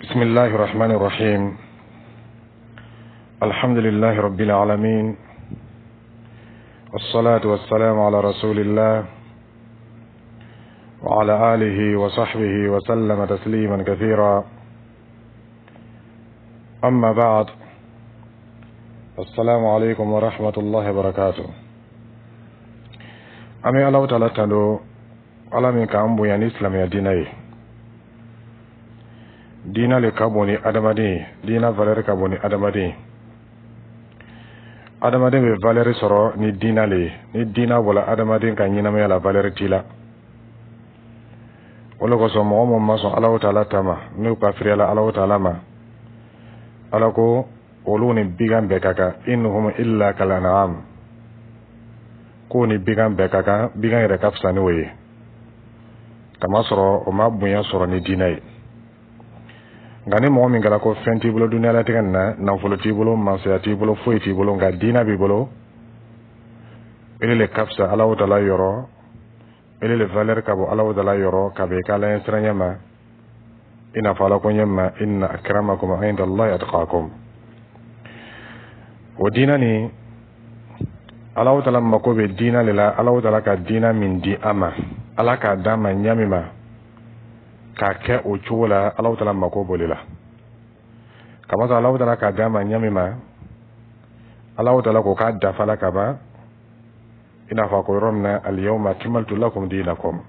بسم الله الرحمن الرحيم. الحمد لله رب العالمين، والصلاة والسلام على رسول الله وعلى آله وصحبه وسلم تسليما كثيرا. أما بعد، السلام عليكم ورحمة الله وبركاته. An bɛ Alahu Taala tando, Ala min k'an bonya ni silamɛya diinɛ ye. Diinɛ le ka bon ni adamaden ye, diinɛ valeur ka bon ni adamaden ye. Adamaden bɛ valeur sɔrɔ ni diinɛ le ye. Ni diinɛ bɔra adamaden ka ɲɛnamaya la, valeur t'i la. O le kosɔn, mɔgɔ min ma sɔn Alahu Taala ta ma, n'u kafiriyala Alahu Taala ma, Ala ko olu ni bigan bɛɛ ka kan. In hum illa kal an'am, k'o ni bigan bɛɛ ka kan, bigan yɛrɛ ka fisa n'o ye, kamasɔrɔ o ma bonya sɔrɔ ni diinɛ ye. Nka ni mɔgɔ min kɛra ko fɛn t'i bolo duniyalatigɛ nin na, nafolo t'i bolo, masaya t'i bolo, foyi t'i bolo, nka diinɛ b'i bolo, ele le ka fisa Alahu Taala yɔrɔ, ele le valeur ka bon Alahu Taala yɔrɔ ka bɛn i ka Ala ɲɛsiranɲɛ ma. I n'a fɔ Ala ko ɲɛ ma: inna akramakum inda Allahi atqakum. O diinɛ nin, Alahu Taala mako bɛ diinɛ le la. Alahu Taala ka diinɛ min di an ma, Ala k'a d'an ma ɲa min ma k'a kɛ o cogo la, Alahu Taala mako b'o de la. Kamasɔrɔ Alahu Taala k'a d'an ma ɲa min ma, Alahu Taala ko k'a dafala ka ban. I n'a fɔ a ko yɔrɔ min na: alyawma akmaltu lakum dinakum.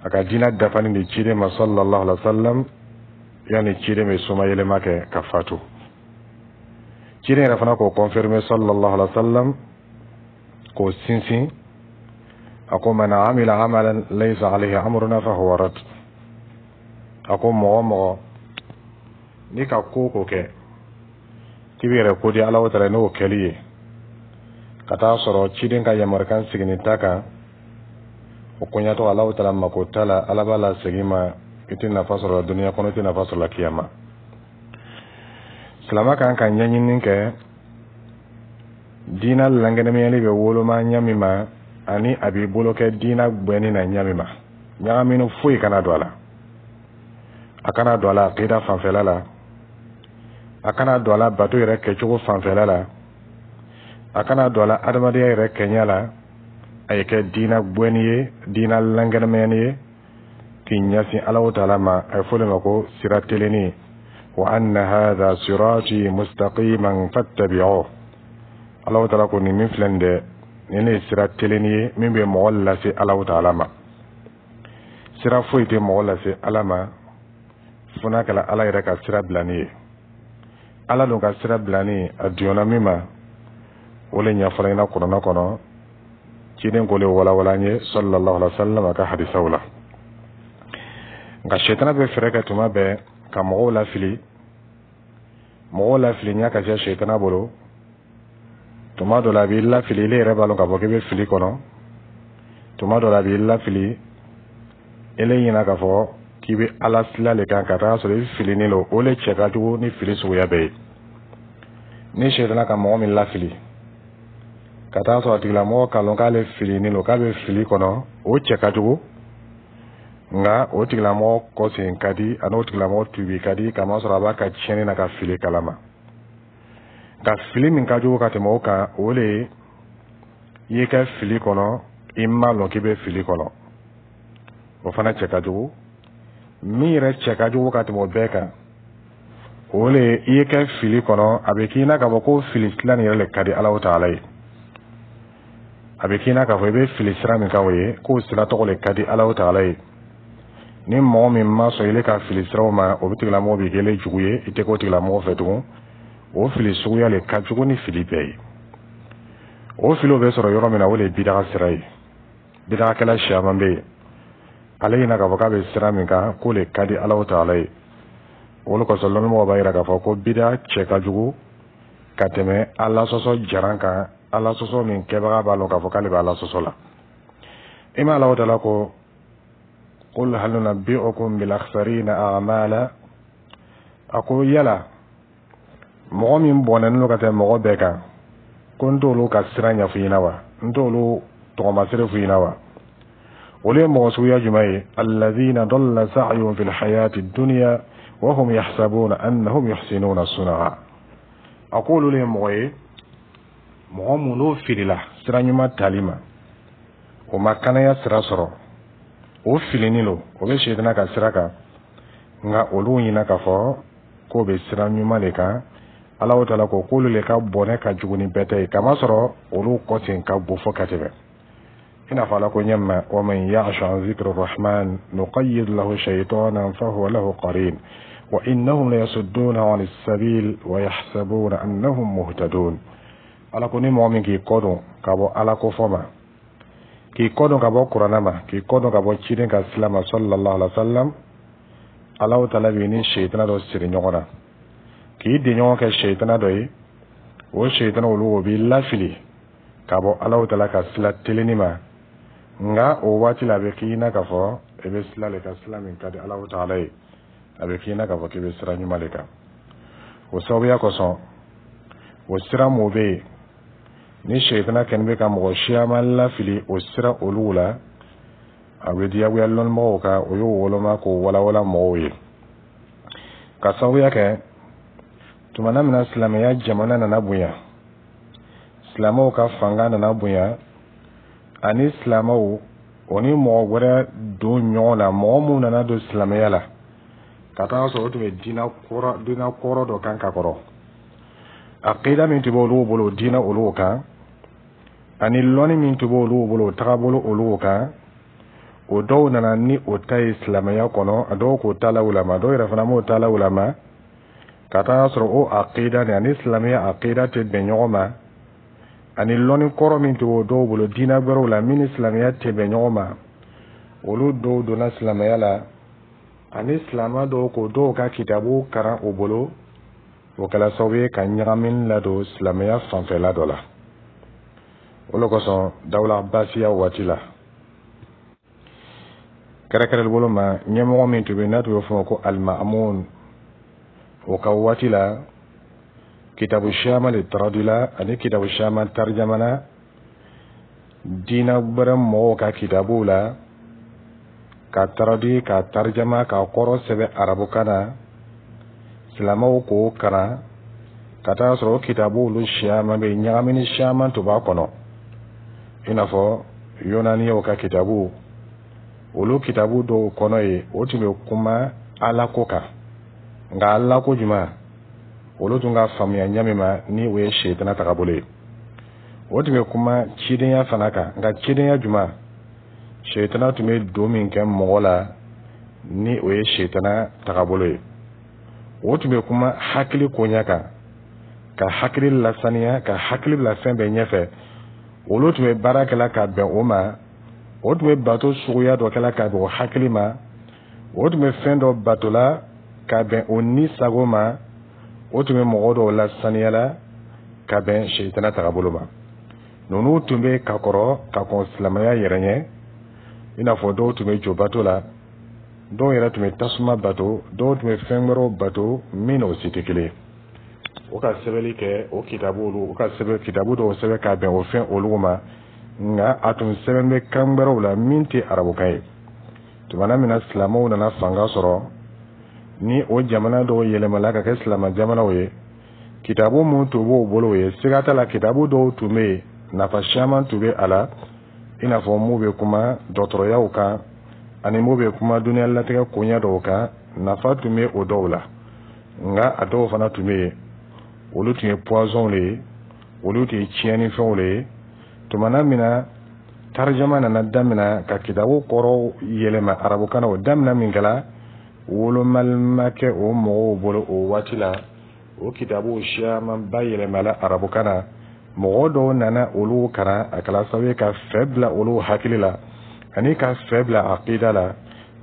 A ka diinɛ dafani di ciden ma sallallahu alaihi wa sallam, yanni ciden bɛ somayɛlɛma kɛ ka fatu. Ciden yɛrɛ fana k'o confirmer sallallahu alaihi wa sallam, k'o sinsin. A ko: man amila amalan laysa alayhi amruna fahuwa rad. A ko mɔgɔ mɔgɔ n'i ka ko ko kɛ k'i bɛ yɛrɛ ko di Ala taala n'o kɛli ye, ka taa sɔrɔ ciden ka yamarukan sigini ta kan, o koɲatɔ Alahu Taala mako t'a la. Ala b'a la segin ma, i tɛ nafa sɔrɔ duniya kɔnɔ, i tɛ nafa sɔrɔ la kiyama. Silama kan ka ɲɛɲini kɛ diina lankɛnɛmayali bɛ woloma ɲa min ma, ani a b'i bolo kɛ diina gbɛnni na ɲa min ma, ɲagamini foyi kana don a la. A kana don a la akida fanfɛla la, a kana don a la bato yɛrɛ kɛcogo fanfɛla la, a kana don a la adamadenya yɛrɛ kɛɲɛ la. A ye kɛ diina gbɛnni ye, diina lankɛnɛmayani ye k'i ɲɛsin Alahu Taala ma. A ye fɔ o de ma ko sira telenni: wa anna hadha sirati mustaqiman fattabi'uh. Alahu Taala ko nin min filɛ nin dɛ, nin ne ye sira telenni ye min bɛ mɔgɔ lase Alahu Taala ma. Sira foyi tɛ mɔgɔ lase Ala ma fo n'a kɛra Ala yɛrɛ ka sira bilani ye. Ala dun ka sira bilani, a diyɔnna min ma, o le ɲɛfɔra ɲɛna kuranɛ kɔnɔ. Ciden k'o le walawala an ye sallallahu alaihi wa sallam a ka hadisaw la. Nka sɛtana bɛ fɛɛrɛ kɛ tuma bɛɛ ka mɔgɔw lafili. Mɔgɔw lafili ɲɛ ka ca sɛtana bolo. Tuma dɔ la, a b'i lafili, ile yɛrɛ b'a lɔn k'a fɔ k'i bɛ fili kɔnɔ. Tuma dɔ la, a b'i lafili, ele ɲinɛ k'a fɔ k'i bɛ Ala sila le kan, ka taa sɔrɔ i filinin don. O le cɛ ka jugu ni fili suguya bɛɛ ye. Ni sɛtana ka mɔgɔ min lafili ka taa sɔrɔ a tigilamɔgɔ k'a lɔn k'ale filinin don, k'a bɛ fili kɔnɔ, o cɛ ka jugu. Nka o tigilamɔgɔ kɔsen ka di, ani o tigilamɔgɔ tubi ka di, kamasɔrɔ a b'a ka tiɲɛni na ka fili kalama. Nka fili min ka jugu ka tɛmɛ o kan, o le ye i ye kɛ fili kɔnɔ, i m'a lɔn k'i bɛ fili kɔnɔ, o fana cɛ ka jugu. Min yɛrɛ cɛ ka jugu ka tɛmɛ o bɛɛ kan, o le ye i ye kɛ fili kɔnɔ, a bɛ k'i na k'a fɔ ko fili sira nin yɛrɛ le ka di Alahu Taala ye. A bɛ k'i na k'a fɔ i bɛ fili sira min kan, o ye k'o sira tɔgɔ le ka di Alahu Taala ye. Ni mɔgɔ min ma sɔn ile ka fili siraw ma, o bɛ tigilamɔgɔ b'i kɛlen jugu ye, i tɛ k'o tigilamɔgɔ fɛ tugun. O fili suguya le ka jugu ni fili bɛɛ ye. O filiw bɛ sɔrɔ yɔrɔ min na, o de ye bidaga sira ye. Bidagakɛla siyaman bɛ yen, ale ɲina k'a fɔ k'a bɛ sira min kan, k'o le ka di Alahu Taala ye. O le kosɔn, lɔnnimɔgɔw b'a yira k'a fɔ ko bida cɛ ka jugu ka tɛmɛ Ala sɔsɔ jaran kan, Ala sɔsɔ min kɛbaga b'a lɔn k'a fɔ k'ale bɛ Ala sɔsɔ la. I ma Alahu Taala ko: qul hal nunabbi'ukum bil akhsarina a'mala. A ko yala mɔgɔ min bɔnɛnen don ka tɛmɛ mɔgɔ bɛɛ kan, ko n t'olu ka sira ɲɛfɔ ɲɛna wa? N t'olu tɔgɔmasere f'u ɲɛna wa? Olu ye mɔgɔ suguya jumɛn ye? Alladhina dalla sa'yuhum fil hayati dunya. Wa hum yahsabuna annahum yuhsinuna sun'a. A ko olu le ye mɔgɔ ye, mɔgɔ mun n'o filila sira ɲuman tali ma, o ma kanaya sira sɔrɔ, o filinin lo, o bɛ sɛtana ka sira kan, nka olu ɲina k'a fɔ k'o bɛ sira ɲuman de kan. Ala taala ko k'olu le ka bɔnɛ ka jugu ni bɛɛ ta ye, kamasɔrɔ olu kɔsen ka bon fo ka tɛmɛ. I n'a fɔ Ala ko ɲɛma: wa man ya'shu an zikri rahman nuqayyid lahu shaytanan fahuwa lahu qarin wa innahum la yasudduna an sabil wa yahsabuna annahum muhtadun. Ala ko ni mɔgɔ min k'i kɔ don ka bɔ Ala ko fɔ ma, k'i kɔ don ka bɔ Kuranna ma, k'i kɔ don ka bɔ ciden ka sila ma, sallallahu alaihi wa sallam, Ala taala b'i ni seyitana dɔ siri ɲɔgɔn na, k'i denɲɔgɔn kɛ seyitana dɔ ye. O seyitana olu, o b'i lafili ka bɔ Ala taala ka sila telenni ma. Nka o waati la, a bɛ k'i na k'a fɔ i bɛ sila le kan, sila min ka di Ala taala ye. A bɛ k'i na k'a fɔ k'i bɛ sira ɲuman de kan. O sababuya kosɔn, o sira mun bɛ yen ni seyitana kɛlen bɛ ka mɔgɔ siyaman lafili o sira olu la, a bɛ diyagoya lɔnnibagaw kan, o y'o woloma k'o walawala mɔgɔw ye. Ka sababuya kɛ, tumana min na silamɛya jamana nana bonya, silamɛw ka fanga nana bonya, ani silamɛw o ni mɔgɔ wɛrɛ don ɲɔgɔn na, mɔgɔ mun nana don silamɛya la ka taa sɔrɔ o tun bɛ diinɛ kɔrɔ dɔ kan ka kɔrɔ, aqida min tun bɛ olu bolo diinɛ olu kan, ani lɔnni min tun bɛ olu bolo o tagabolo olu kan, o dɔw nana ni o ta ye silamɛya kɔnɔ. A dɔw k'o ta lawulama, dɔw yɛrɛ fana m'o ta lawulama, ka taa sɔrɔ o aqida ni ani silamɛya aqida tɛ bɛn ɲɔgɔn ma, ani lɔnni kɔrɔ min tun b'o dɔw bolo diinɛ wɛrɛw la min ni silamɛya tɛ bɛn ɲɔgɔn ma. Olu dɔw donna silamɛya la, ani silamɛ dɔw k'o dɔw ka kitabu karan o bolo. O kɛra sababu ye ka ɲagamini ladon silamɛya fanfɛla dɔ la. O le kosɔn, dawula basiya waati la, kɛrɛkɛrɛli bolo ma, ɲɛmɔgɔ min tun bɛ n'a tun bɛ fɔ ko Alimamun, o ka waati la, kitabu siyaman de taradila ani kitabu siyaman tarijamana diinɛ wɛrɛ mɔgɔw ka kitabuw la, ka taradi, ka tarijama, ka kɔrɔ sɛbɛn arabukan na, silamɛw k'o kalan. Ka taa sɔrɔ o kitabu olu siyaman bɛ ɲagamini siyaman tun b'a kɔnɔ, i n'a fɔ yonaniyaw ka kitabu. Olu kitabu dɔw kɔnɔ ye, o tun bɛ kuma Ala ko kan, nka Ala ko jumɛn olu tun ka faamuya ɲɛ min ma ni o ye seyitana tagabolo ye. O tun bɛ kuma cidenya fana kan, nka cidenya jumɛn, seyitana tun bɛ don min kɛ mɔgɔ la ni o ye seyitana tagabolo ye. O tun bɛ kuma hakili koɲɛ kan, ka hakili lasaniya, ka hakili bila fɛn bɛɛ ɲɛfɛ. Olu tun bɛ baara kɛla ka bɛn o ma. O tun bɛ bato suguya dɔ kɛla ka bɛn o hakili ma. O tun bɛ fɛn dɔ batola ka bɛn o ni sago ma. O tun bɛ mɔgɔ dɔw lasaniya la ka bɛn seyitana tagabolo ma. Ninnu tun bɛ ka kɔrɔ ka kɔn silamɛya yɛrɛ ɲɛ, i n'a fɔ dɔw tun bɛ jo bato la, dɔw yɛrɛ tun bɛ tasuma bato, dɔw tun bɛ fɛn wɛrɛw bato min n'o si tɛ kelen ye. O ka sɛbɛnni kɛ o kitabu olu, o ka sɛbɛn kitabu dɔw sɛbɛn ka bɛn o fɛn olu ma, nka a tun sɛbɛn bɛ kan wɛrɛw la min tɛ arabukan ye. Tumana min na silamɛw nana fanga sɔrɔ, ni o jamana dɔw yɛlɛmala ka kɛ silamɛ jamanaw ye, kitabu mun tun b'o bolo ye, siga t'a la, kitabu dɔw tun bɛ yen, nafa caman tun bɛ a la, i n'a fɔ mun bɛ kuma dɔgɔtɔrɔyaw kan ani mun bɛ kuma dunuya latigɛ koɲɛ dɔw kan, nafa tun bɛ o dɔw la. Nka a dɔw fana tun bɛ yen, olu tun ye poison de ye, olu tun ye tiɲɛnifɛnw de ye. Tumana min na tarijama nana daminɛ ka kitabu kɔrɔw yɛlɛma arabukan na, o daminɛ min kɛra, wolomali ma kɛ o mɔgɔw bolo o waati la. O kitabu siyamanba yɛlɛmala arabukan na, mɔgɔ dɔw nana olu kalan. A kɛra sababu ye ka fɛ bila olu hakili la, ani ka fɛ bila aqida la,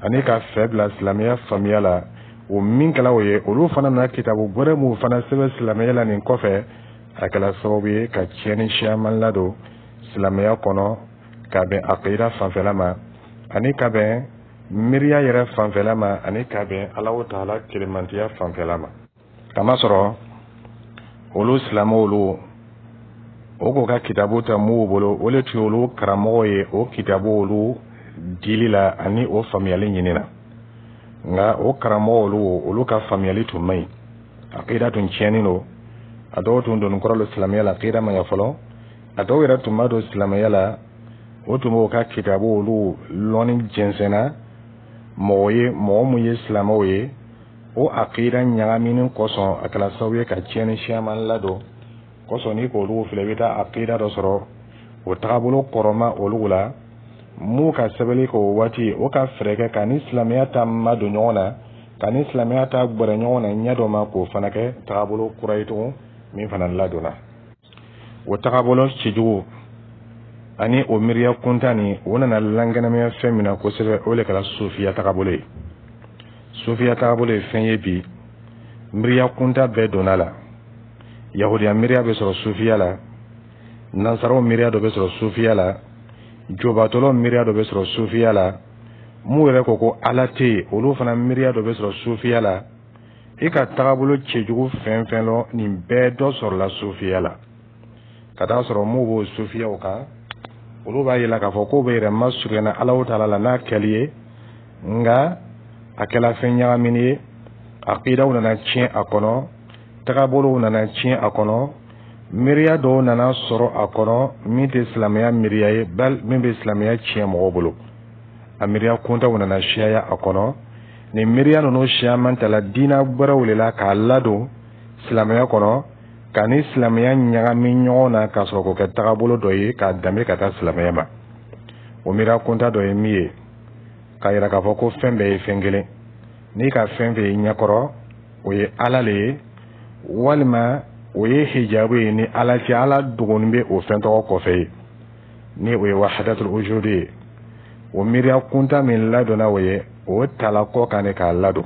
ani ka fɛ bila silamɛya faamuya la. O min kɛla o ye, olu fana nana kitabu wɛrɛ mun fana sɛbɛn silamɛya la nin kɔfɛ. A kɛra sababu ye ka tiɲɛni siyaman ladon silamɛya kɔnɔ, ka bɛn aqida fanfɛla ma, ani ka bɛn miiriya yɛrɛ fanfɛla ma, ani ka bɛn Alahu taala kelemantiya fanfɛla ma. Kamasɔrɔ olu silamɛw olu, o k'o ka kitabu ta m'u bolo, o le tun ye olu karamɔgɔ ye o kitabu olu dili la ani o faamuyali ɲini na. Nka o karamɔgɔ olu ka faamuyali tun man ɲi, akida tun tiɲɛnen don. A dɔw tun donni kɔrɔ don silamɛya la, akida ma ɲɛ fɔlɔ. A dɔw yɛrɛ tun ma don silamɛya la, o tun b'o ka kitabu olu lɔnni jɛnsɛnna mɔgɔ ye, mɔgɔ mun ye silamɛw ye. O akida ɲagamini kosɔn, a kɛra sababu ye ka tiɲɛni siyaman ladon kosɔn. N'i k'olu filɛ, i bɛ taa akida dɔ sɔrɔ o tagabolo kɔrɔma olu la. M'u ka sɛbɛnni kɛ o waati, o ka fɛɛrɛ kɛ ka ni silamɛya ta madon ɲɔgɔn na, ka ni silamɛya ta gbɛrɛ ɲɔgɔn na ɲɛ dɔ ma, k'o fana kɛ tagabolo kura ye tugun min fana ladonna. O tagabolo cɛjugu ani o miiriya kuntan nin, o nana lankɛnɛmaya fɛn min na kosɛbɛ, o de kɛra sufiya tagabolo ye. Sufiya tagabolo ye fɛn ye bi, miiriya kuntan bɛɛ donna la. Yahudiya miiriya bɛ sɔrɔ sufiya la, nansaraw miiriya dɔ bɛ sɔrɔ sufiya la, jobatɔlɔ miiriya dɔ bɛ sɔrɔ sufiya la, mun yɛrɛ ko ko Ala tɛ yen, olu fana miiriya dɔ bɛ sɔrɔ sufiya la. I ka tagabolo cɛjugu fɛn fɛn lɔ, nin bɛɛ dɔ sɔrɔla sufiya la. Ka taa sɔrɔ mun b'o sufiyaw kan, olu b'a yira k'a fɔ k'o bɛ yɛrɛ masurunya Alahu taala la n'a kɛli ye, nka a kɛla fɛn ɲagamini ye. Akidaw nana tiɲɛ a kɔnɔ, tagabolow nana tiɲɛ a kɔnɔ, miiriya dɔw nana sɔrɔ a kɔnɔ min tɛ silamɛya miiriya ye, bali min bɛ silamɛya tiɲɛ mɔgɔw bolo. A miiriya kuntaw nana siyaya a kɔnɔ. Nin miiriya ninnu siyaman tala diinɛ wɛrɛw de la k'a ladon silamɛya kɔnɔ, ka ni silamɛya ɲagami ɲɔgɔn na, ka sɔrɔ k'o kɛ tagabolo dɔ ye k'a danbe ka taa silamɛya ma. O miiriya kunta dɔ ye min ye, k'a yira k'a fɔ ko fɛn bɛɛ ye fɛn kelen. N'i ka fɛn fɛn ye ɲɛkɔrɔ, o ye Ala le ye, walima o ye hijabu ye ni Ala cɛ, Ala dogonin bɛ o fɛn tɔgɔ kɔfɛ ye, ni o ye wahadatul wujudi ye. O miiriya kunta min ladonna, o ye o tala kɔ kan de k'a ladon,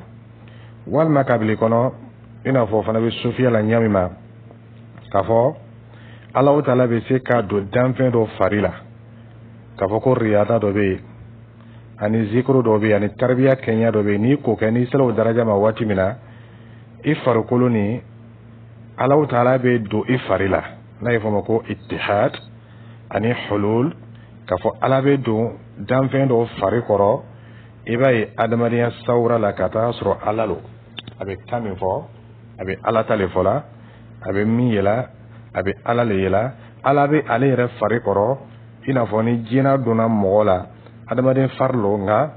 walima kabili kɔnɔ, i n'a fɔ o fana bɛ sufiya la ɲɛ min ma, k'a fɔ Alahu taala bɛ se ka don danfɛn dɔ fari la, k'a fɔ ko riyada dɔ bɛ yen, ani zikuru dɔ bɛ yen, ani taribiya kɛɲɛ dɔ bɛ yen. N'i k'o kɛ, n'i sera o daraja ma waati min na, i farikolo ni Alahu taala bɛ don i fari la, n'a ye fɔ o ma ko ittihad ani hulul, k'a fɔ Ala bɛ don danfɛn dɔ fari kɔrɔ. I b'a ye adamadenya sawura la ka taa sɔrɔ Ala lo a bɛ kan min fɔ, a bɛ Ala ta le fɔ la, a bɛ min yela, a bɛ Ala le yela, Ala bɛ ale yɛrɛ fari kɔrɔ. I n'a fɔ ni jinɛ donna mɔgɔ la, adamaden fari lo, nka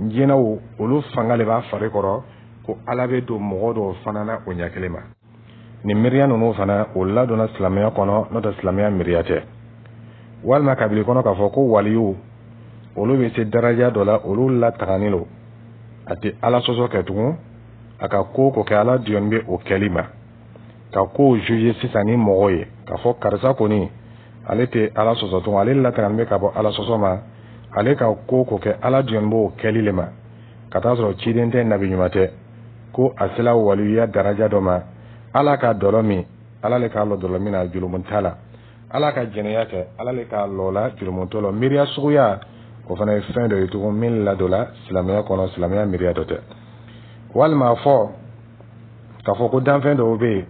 jinɛw olu fanga de b'a fari kɔrɔ, ko Ala bɛ don mɔgɔ dɔw fana na o ɲɛ kelen ma. Nin miiriya ninnu fana, o ladonna silamɛya kɔnɔ, n'o tɛ silamɛya miiriya tɛ. Walima kabili kɔnɔ, k'a fɔ ko waliyu olu bɛ se daraja dɔ la, olu lataganin don, a tɛ Ala sɔsɔ kɛ tugun, a ka ko ko kɛ, Ala diyɔn bɛ o kɛli ma, ka kow juger sisan ni mɔgɔ ye, k'a fɔ karisa kɔni, ale tɛ Ala sɔsɔ tugun, ale lataganin bɛ ka bɔ Ala sɔsɔ ma, ale ka ko ko kɛ, Ala diyɔn b'o kɛli le ma, ka taa sɔrɔ ciden tɛ, nabi ɲuman tɛ, ko a sela waliyuya daraja dɔ ma, Ala ka dɔlɔ min, Ala le k'a lɔ dɔlɔ min na, jurumu t'a la, Ala ka jɛnɛya kɛ, Ala le k'a lɔ la, jurumu t'o la. Miiriya suguya o fana ye fɛn dɔ ye tugun min ladonna silamɛya kɔnɔ, silamɛya miiriya dɔ tɛ. Walima a fɔ k'a fɔ ko danfɛn dɔw bɛ yen,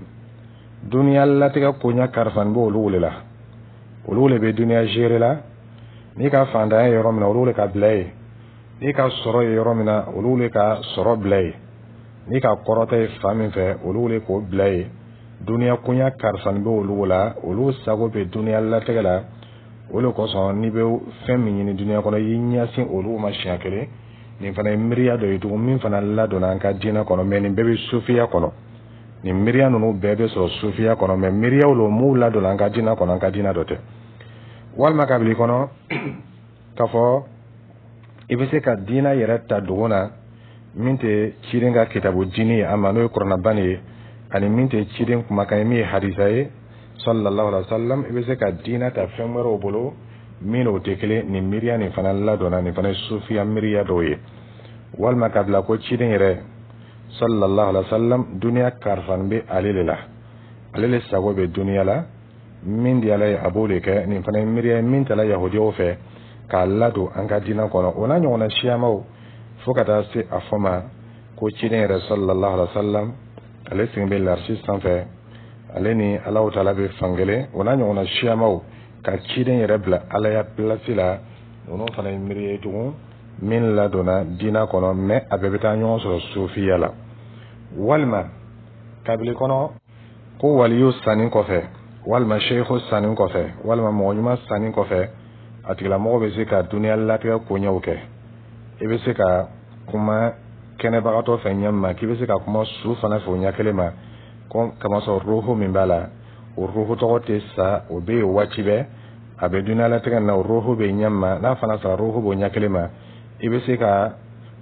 duniya latigɛ koɲɛ karifani b'olu le la, olu le bɛ duniya gérer la. N'i ka fantanya ye yɔrɔ min na, olu le ka bila yen. N'i ka sɔrɔ ye yɔrɔ min na, olu le ka sɔrɔ bila yen. N'i ka kɔrɔta ye fan min fɛ, olu le k'o bila yen. Duniya koɲɛ karifani bɛ olu la, olu sago bɛ duniya latigɛ la. O de kosɔn, n'i bɛ fɛn min ɲini duniya kɔnɔ, i y'i ɲɛsin olu ma siɲɛ kelen. Nin fana ye miiriya dɔ ye tugun min fana ladonna an ka diinɛ kɔnɔ, mɛ nin bɛɛ bɛ sufiya kɔnɔ. Nin miiriya ninnu bɛɛ bɛ sɔrɔ sufiya kɔnɔ, mɛ miiriyaw lo m'u ladonna an ka diinɛ kɔnɔ, an ka diinɛ dɔ tɛ. Walima kabili kɔnɔ, k'a fɔ i bɛ se ka diinɛ yɛrɛ ta dogo na min tɛ ciden ka kitabu diini ye a ma, n'o ye kuranaba ye, ani min tɛ ciden kumakan ye, min ye hadisa ye sallallahu alaihi wa sallam, i bɛ se ka diinɛ ta fɛn wɛrɛw bolo min n'o tɛ kelen. Nin miiriya nin fana ladonna, nin fana ye sufiya miiriya dɔw ye. Walima ka bila ko ciden yɛrɛ sallallahu alaihi wa sallam, duniya karifani bɛ ale de la, ale le sago bɛ duniya la, min di Ala ye, a b'o de kɛ. Nin fana ye miiriya ye min tala yahudiyaw fɛ k'a ladon an ka diinɛ kɔnɔ, o n'a ɲɔgɔnna siyamaw, fo ka taa se a fɔ ma ko ciden yɛrɛ sallallahu alaihi wa sallam, ale sigilen bɛ larisi sanfɛ, ale ni Alahu taala bɛ fankelen, o n'a ɲɔgɔnna siyamaw, ka ciden yɛrɛ bila Alaya pilasi la. Ninnu fana ye miiri ye tugun. Min ladonna diina kɔnɔ, mais a bɛɛ bɛ taa ɲɔgɔn sɔrɔ sufiya la. Walima kabili kɔnɔ ko waliyu sanni kɔfɛ, walima seiko sanni kɔfɛ, walima mɔgɔ ɲuman sanni kɔfɛ, a tigilamɔgɔ bɛ se ka duniya latigɛ koɲɛw kɛ. I bɛ se ka kuma kɛnɛbagatɔ fɛ ɲɛ ma, k'i bɛ se ka kuma su fana fɛ o ɲɛ kelen ma, ko kamasɔrɔ roho min b'a la, o roho tɔgɔ tɛ sa, o bɛ yen waati bɛɛ, a bɛ duniya latigɛ na, o roho bɛ ɲɛ ma. N'a fana sara, roho b'o ɲɛ kelen ma. I bɛ se ka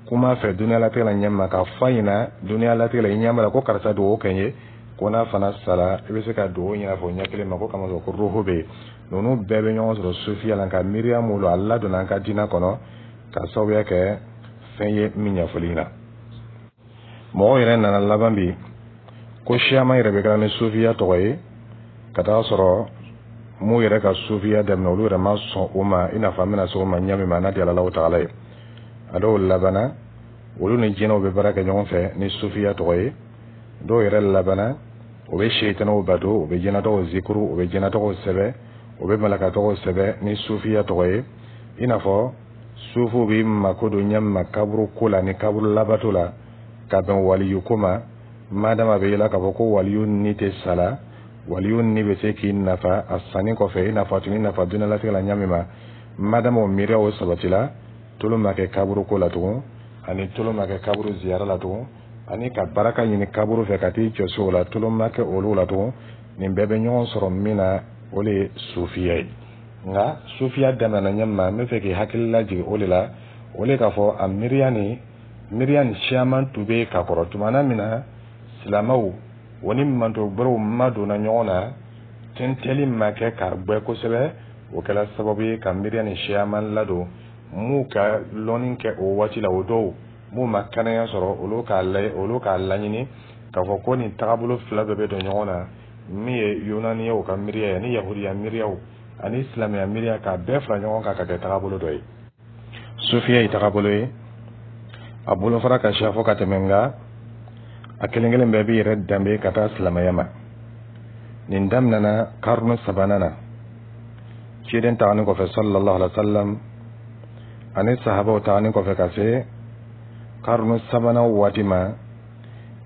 kuma fɛ duniya latigɛ la ɲɛ ma, ka fɔ a ɲɛna duniya latigɛ la, i ɲɛ b'a la ko karisa dugawu kɛ n ye, ko n'a fana sara, i bɛ se ka dugawu ɲini a fɛ o ɲɛ kelen ma, ko kamasɔrɔ ko roho bɛ yen. Ninnu bɛɛ bɛ ɲɔgɔn sɔrɔ sufiya la. Nka miiriya mun a ladonna an ka diinɛ kɔnɔ ka sababuya kɛ fɛn ye min ɲɛfɔli ɲɛna. Mɔgɔw yɛrɛ nana laban bi ko siyaman yɛrɛ bɛ kɛra ni sufiya tɔgɔ ye, ka taa sɔrɔ m'u yɛrɛ ka sufiya daminɛ, olu yɛrɛ ma sɔn o ma. I n'a fɔ an bɛna se o ma ɲɛ min ma n'a di Ala taala ye. A dɔw labanna, olu ni jinɛw bɛ baara kɛ ɲɔgɔn fɛ ni sufiya tɔgɔ ye. Dɔw yɛrɛ labanna, o bɛ seyitanɛw bato, o bɛ jinɛtɔgɔw zikuru, o bɛ jinɛtɔgɔw sɛbɛ, o bɛ malaka tɔgɔw sɛbɛ ni sufiya tɔgɔ ye. I n'a fɔ sufuw bɛ mako don ɲɛ ma kaburu ko la ni kaburu labato la, ka bɛn waliyu ko ma. Madama bɛ yela k'a fɔ ko waliyu ni tɛ sala, waliyu ni bɛ se k'i nafa a sanni kɔfɛ, i n'a fɔ a tun bɛ nafa diɲɛlatigɛ la ɲɛ min ma. Madama o miiriya o sabatila, tolo ma kɛ kaburu ko la tugun, ani tolo ma kɛ kaburu ziyara la tugun, ani ka baraka ɲini kaburu fɛ ka t'i jɔ so la, tolo ma kɛ olu la tugun. Nin bɛɛ bɛ ɲɔgɔn sɔrɔ min na, o de ye sufiya ye. Nka sufiya daminɛna ɲɛ ma, n bɛ fɛ k'i hakili lajigin o de la, o de k'a fɔ a miiriya ni miiriya ni siyaman tun bɛ ka kɔrɔ. Tumana min na silamɛw o ni manto gbɛrɛw ma donna ɲɔgɔn na, tɛntɛli ma kɛ k'a gbɛ kosɛbɛ, o kɛra sababu ye ka miiriya ni siyaman ladon. M'u ka lɔnni kɛ o waati la, o dɔw m'u ma kɛnɛya sɔrɔ, olu k'a laɲini k'a fɔ ko nin tagabolo fila bɛɛ bɛ don ɲɔgɔn na, min ye yunaniyaw ka miiriya ye ani yahudiya miiriyaw ani silamɛya miiriya, k'a bɛɛ fara ɲɔgɔn kan ka kɛ tagabolo dɔ ye. Sufiya ye tagabolo ye, a bolofara ka siya fo ka tɛmɛ, nka a kelen kelen bɛɛ b'i yɛrɛ danbe ka taa silamɛya ma. Nin daminɛna karunu sabanan na, ciden taganin kɔfɛ sallallahu alaihi wa sallam ani sahabaw taganin kɔfɛ, ka se karunu sabanan waati ma.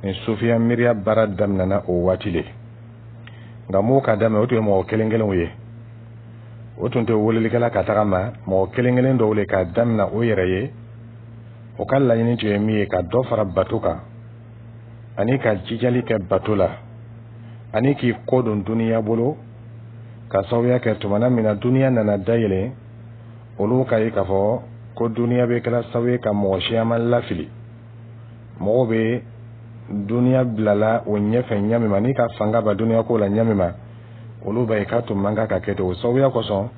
Nin sufiya miiriya baara daminɛna o waati le. Nka m'o ka daminɛ, o tun ye mɔgɔ kelen kelenw ye, o tun tɛ welelikɛla ka taga ma, mɔgɔ kelen kelen dɔw le k'a daminɛ o yɛrɛ ye. O ka laɲini tun ye min ye, ka dɔ fara bato kan, ani ka jijali kɛ bato la, ani k'i kɔ don duniya bolo, ka sababuya kɛ tumana min na duniya nana dayɛlɛ, olu ka ye k'a fɔ ko duniya bɛ kɛra sababu ye ka mɔgɔ siyaman lafili. Mɔgɔw bɛ duniya bilala o ɲɛfɛ ɲɛ min ma, n'i ka fanga ba duniya ko la ɲɛ min ma, olu b'a ye k'a tun man kan ka kɛ ten. O sababuya kosɔn,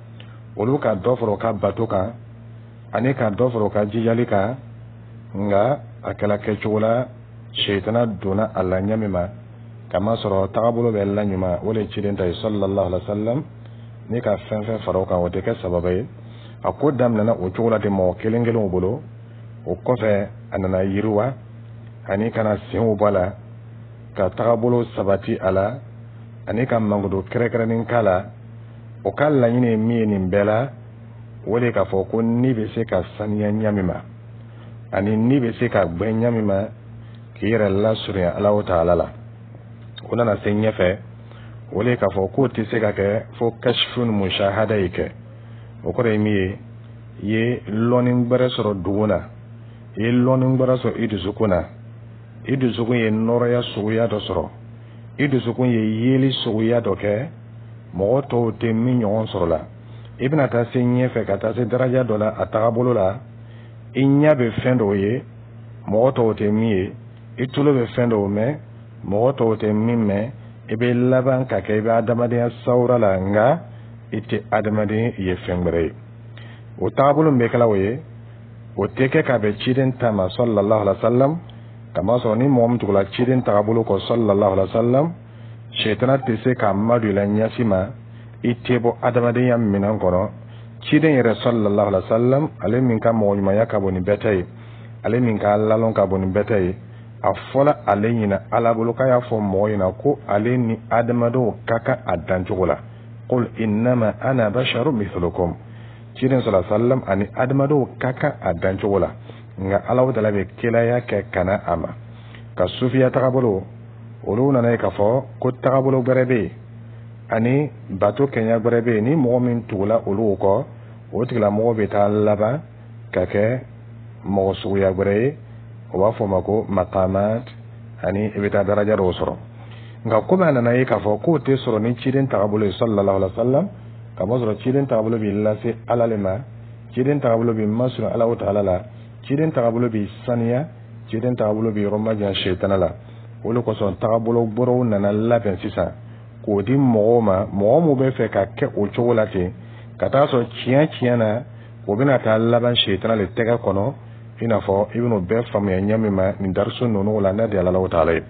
olu ka dɔ fara u ka bato kan ani ka dɔ fara u ka jijali kan. Nka a kɛla kɛcogo la, seyitana donna a la ɲɛ min ma, kamasɔrɔ tagabolo bɛ la ɲuman, o de ye ciden ta ye sallallahu alaihi wa sallam. N'i ka fɛn fɛn fara o kan, o tɛ kɛ sababa ye. A ko daminɛna o cogo la ten, mɔgɔ kelen kelenw bolo. O kɔfɛ, a nana yiriwa ani ka na senw bɔ a la, ka tagabolo sabati a la, ani ka mankutu kɛrɛnkɛrɛnnen k'a la. O ka laɲini ye min ye nin bɛɛ la, o de k'a fɔ ko ni bɛ se ka saniya ɲɛ min ma, ani ni bɛ se ka gbɛ ɲɛ min ma, k'i yɛrɛ lasurunya Alahu taala la. O nana se ɲɛfɛ, o de k'a fɔ k'o tɛ se ka kɛ fo kashifun mushahada ye kɛ. O kɔrɔ ye min ye, i ye lɔnni gbɛrɛ sɔrɔ dugu na, i ye lɔnni gbɛrɛ sɔrɔ i dusukun na, i dusukun ye nɔrɔya suguya dɔ sɔrɔ, i dusukun ye yeli suguya dɔ kɛ, mɔgɔ tɔw tɛ min ɲɔgɔn sɔrɔ la. I bɛna taa se ɲɛfɛ, ka taa se daraja dɔ la a tagabolo la, i ɲɛ bɛ fɛn dɔw ye, mɔgɔ tɔw tɛ min ye, i tulo bɛ fɛn dɔw mɛn, mɔgɔ tɔw tɛ min mɛn. I bɛ laban ka kɛ i bɛ adamadenya sawura la, nka i tɛ adamaden ye, fɛn wɛrɛ ye. O tagabolo min bɛ kɛla o ye, o tɛ kɛ ka bɛn ciden ta ma sallallahu alaihi wa sallam, kamasɔrɔ ni mɔgɔ min tugula ciden tagabolo kɔ sallallahu alaihi wa sallam, sɛtana tɛ se k'a madon i la ɲɛsi ma, i tɛ bɔ adamadenya minɛn kɔnɔ. Ciden yɛrɛ sallallahu alaihi wa sallam, ale min ka mɔgɔ ɲumanya ka bon ni bɛɛ ta ye, ale min ka lalɔn ka bon ni bɛɛ ta ye, a fɔla ale ɲina Ala bolo k'a y'a fɔ mɔgɔ ɲɛna ko ale ni adamadenw ka kan a dancogo la: qul innama ana basharu mithlukum. Ciden sala sallam ani adamadenw ka kan a dancogo la, nka Alahu Taala bɛ kelaya kɛ ka na a ma. Ka sufiya tagabolo, olu nana ye k'a fɔ ko tagabolo gbɛrɛ bɛ yen ani bato kɛɲɛ gbɛrɛ bɛ yen. Ni mɔgɔ min tugula olu kɔ, o tigilamɔgɔ bɛ taa laban ka kɛ mɔgɔ suguya gbɛrɛ ye. O b'a fɔ o ma ko makamat, ani i bɛ taa daraja dɔw sɔrɔ. Nka komi a nana ye k'a fɔ k'o tɛ sɔrɔ ni ciden tagabolo ye sallallahu alaihi wa sallam, ka bɔ sɔrɔ ciden tagabolo b'i lase Ala le ma, ciden tagabolo b'i masurun Alahu Taala la, ciden tagabolo b'i saniya, ciden tagabolo b'i yɔrɔ majan sɛtana la. O de kosɔn tagabolo gbɛrɛw nana labɛn sisan k'o di mɔgɔw ma, mɔgɔ min bɛ fɛ ka kɛ o cogo la ten, ka taa sɔrɔ tiɲɛ tiɲɛ na, o bɛna taa laban sɛtana le tɛgɛ kɔnɔ. I n'a fɔ i bɛn'o bɛɛ faamuya ɲɛ min ma nin dariso ninnu la, n'a di Alahu Taala ye.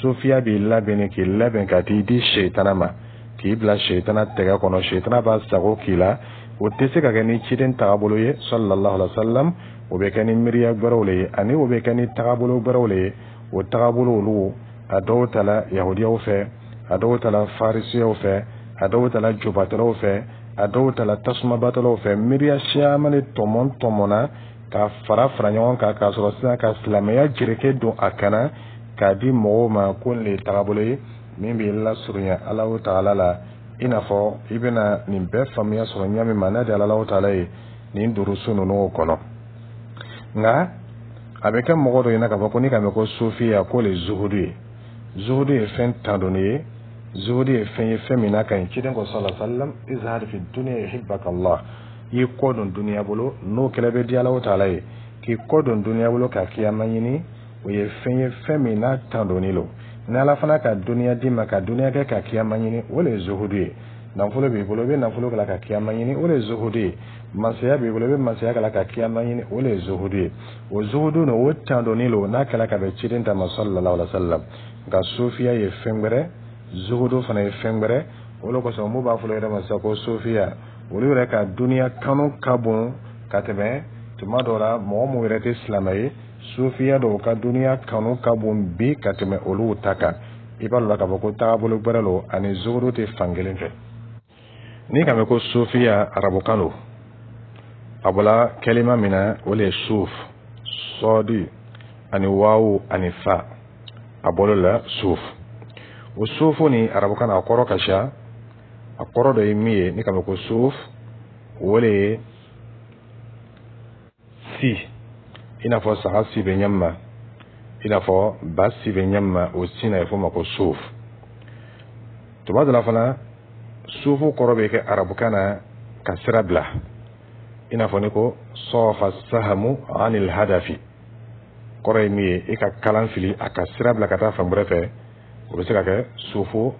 Sofiya b'i labɛn, k'i labɛn ka t'i di sɛtana ma, k'i bila sɛtana tɛgɛ kɔnɔ, sɛtana b'a sago k'i la. O tɛ se ka kɛ ni ciden tagabolo ye sallallahu alaihi wa sallam. O bɛ kɛ ni miiriya gbɛrɛw le ye, ani o bɛ kɛ ni tagabolo gbɛrɛw le ye. O tagabolo olu, a dɔw tala yahudiyaw fɛ, a dɔw tala farisiyaw fɛ, a dɔw tala jobatɔlaw fɛ, a dɔw tala tasumabatɔlaw fɛ. Miiriya caman de tɔmɔ tɔmɔna ka fara fara ɲɔgɔn kan, k'a sɔrɔ sisan ka silamɛya jereke don a kana k'a di mɔgɔw ma ko nin le ye tagabolo ye min b'i lasurunya Alahu Taala la. I n'a fɔ i bɛna nin bɛɛ faamuya sɔrɔ ɲɛ min ma, n'a di Alahu Taala ye nin durusu ninnu kɔnɔ. Nka a bɛ kɛ mɔgɔ dɔ ɲɛna k'a fɔ ko n'i ka mɛn ko sofiya, k'o le zuhudu ye. Zuhudu ye fɛn tandoni ye, zuhudu ye fɛn ye, fɛn min n'a ka ɲi. Ciden ko sallallahu alaihi wa sallam: izhad fi dunya yuhibbaka Allah. I kɔ don duniya bolo, n'o kɛlɛ bɛ di Alahu Taala ye. K'i kɔ don duniya bolo ka kiyama ɲini, o ye fɛn ye, fɛn min n'a tandoni lo. Ni Ala fana ka duniya d'i ma ka duniya kɛ ka kiyama ɲini, o le ye zuhudu ye. Nafolo b'i bolo, i bɛ nafolo kɛla ka kiyama ɲini, o le ye zuhudu ye. Masaya b'i bolo, i bɛ masaya kɛla ka kiyama ɲini, o le ye zuhudu ye. O zuhudu nin, o tandoni lo n'a kɛla ka bɛn ciden ta ma sallallahu alaihi wa sallam. Nka sofiya ye fɛn gbɛrɛ, zuhudu fana ye fɛn gbɛrɛ. O de kosɔn mun b'a fɔ yɛrɛ ma sisan ko sofiya, olu yɛrɛ ka duniya kanu ka bon ka tɛmɛ tuma dɔ la mɔgɔ mun yɛrɛ tɛ silamɛ ye. Sofiya dɔw ka duniya kanu ka bon bi ka tɛmɛ olu ta kan. I b'a dɔn k'a fɔ ko tagabolo gbɛrɛ lo, ani zuhudu tɛ fan kelen fɛ. N'i ka mɛn ko sofiya, arabukan don. A bɔla kɛlima min na, o le ye suf, sɔɔdi ani wawu ani fa, a bɔl'o la suf. O sufu ni arabukan na, a kɔrɔ ka ca. A kɔrɔ dɔ ye min ye, n'i ka mɛn ko suf, o le ye si, i n'a fɔ saga si bɛ ɲɛ min ma, i n'a fɔ ba si bɛ ɲɛ min ma, o si na, a bɛ f'o ma ko suf. Tuma dɔ la fana, sufu kɔrɔ bɛ kɛ arabukan na ka sira bila, i n'a fɔ ni ko sɔfa sahamu anil hadafi, kɔrɔ ye min ye, i ka kalan fili a ka sira bila ka taa fan wɛrɛ fɛ. O bɛ se ka kɛ sufu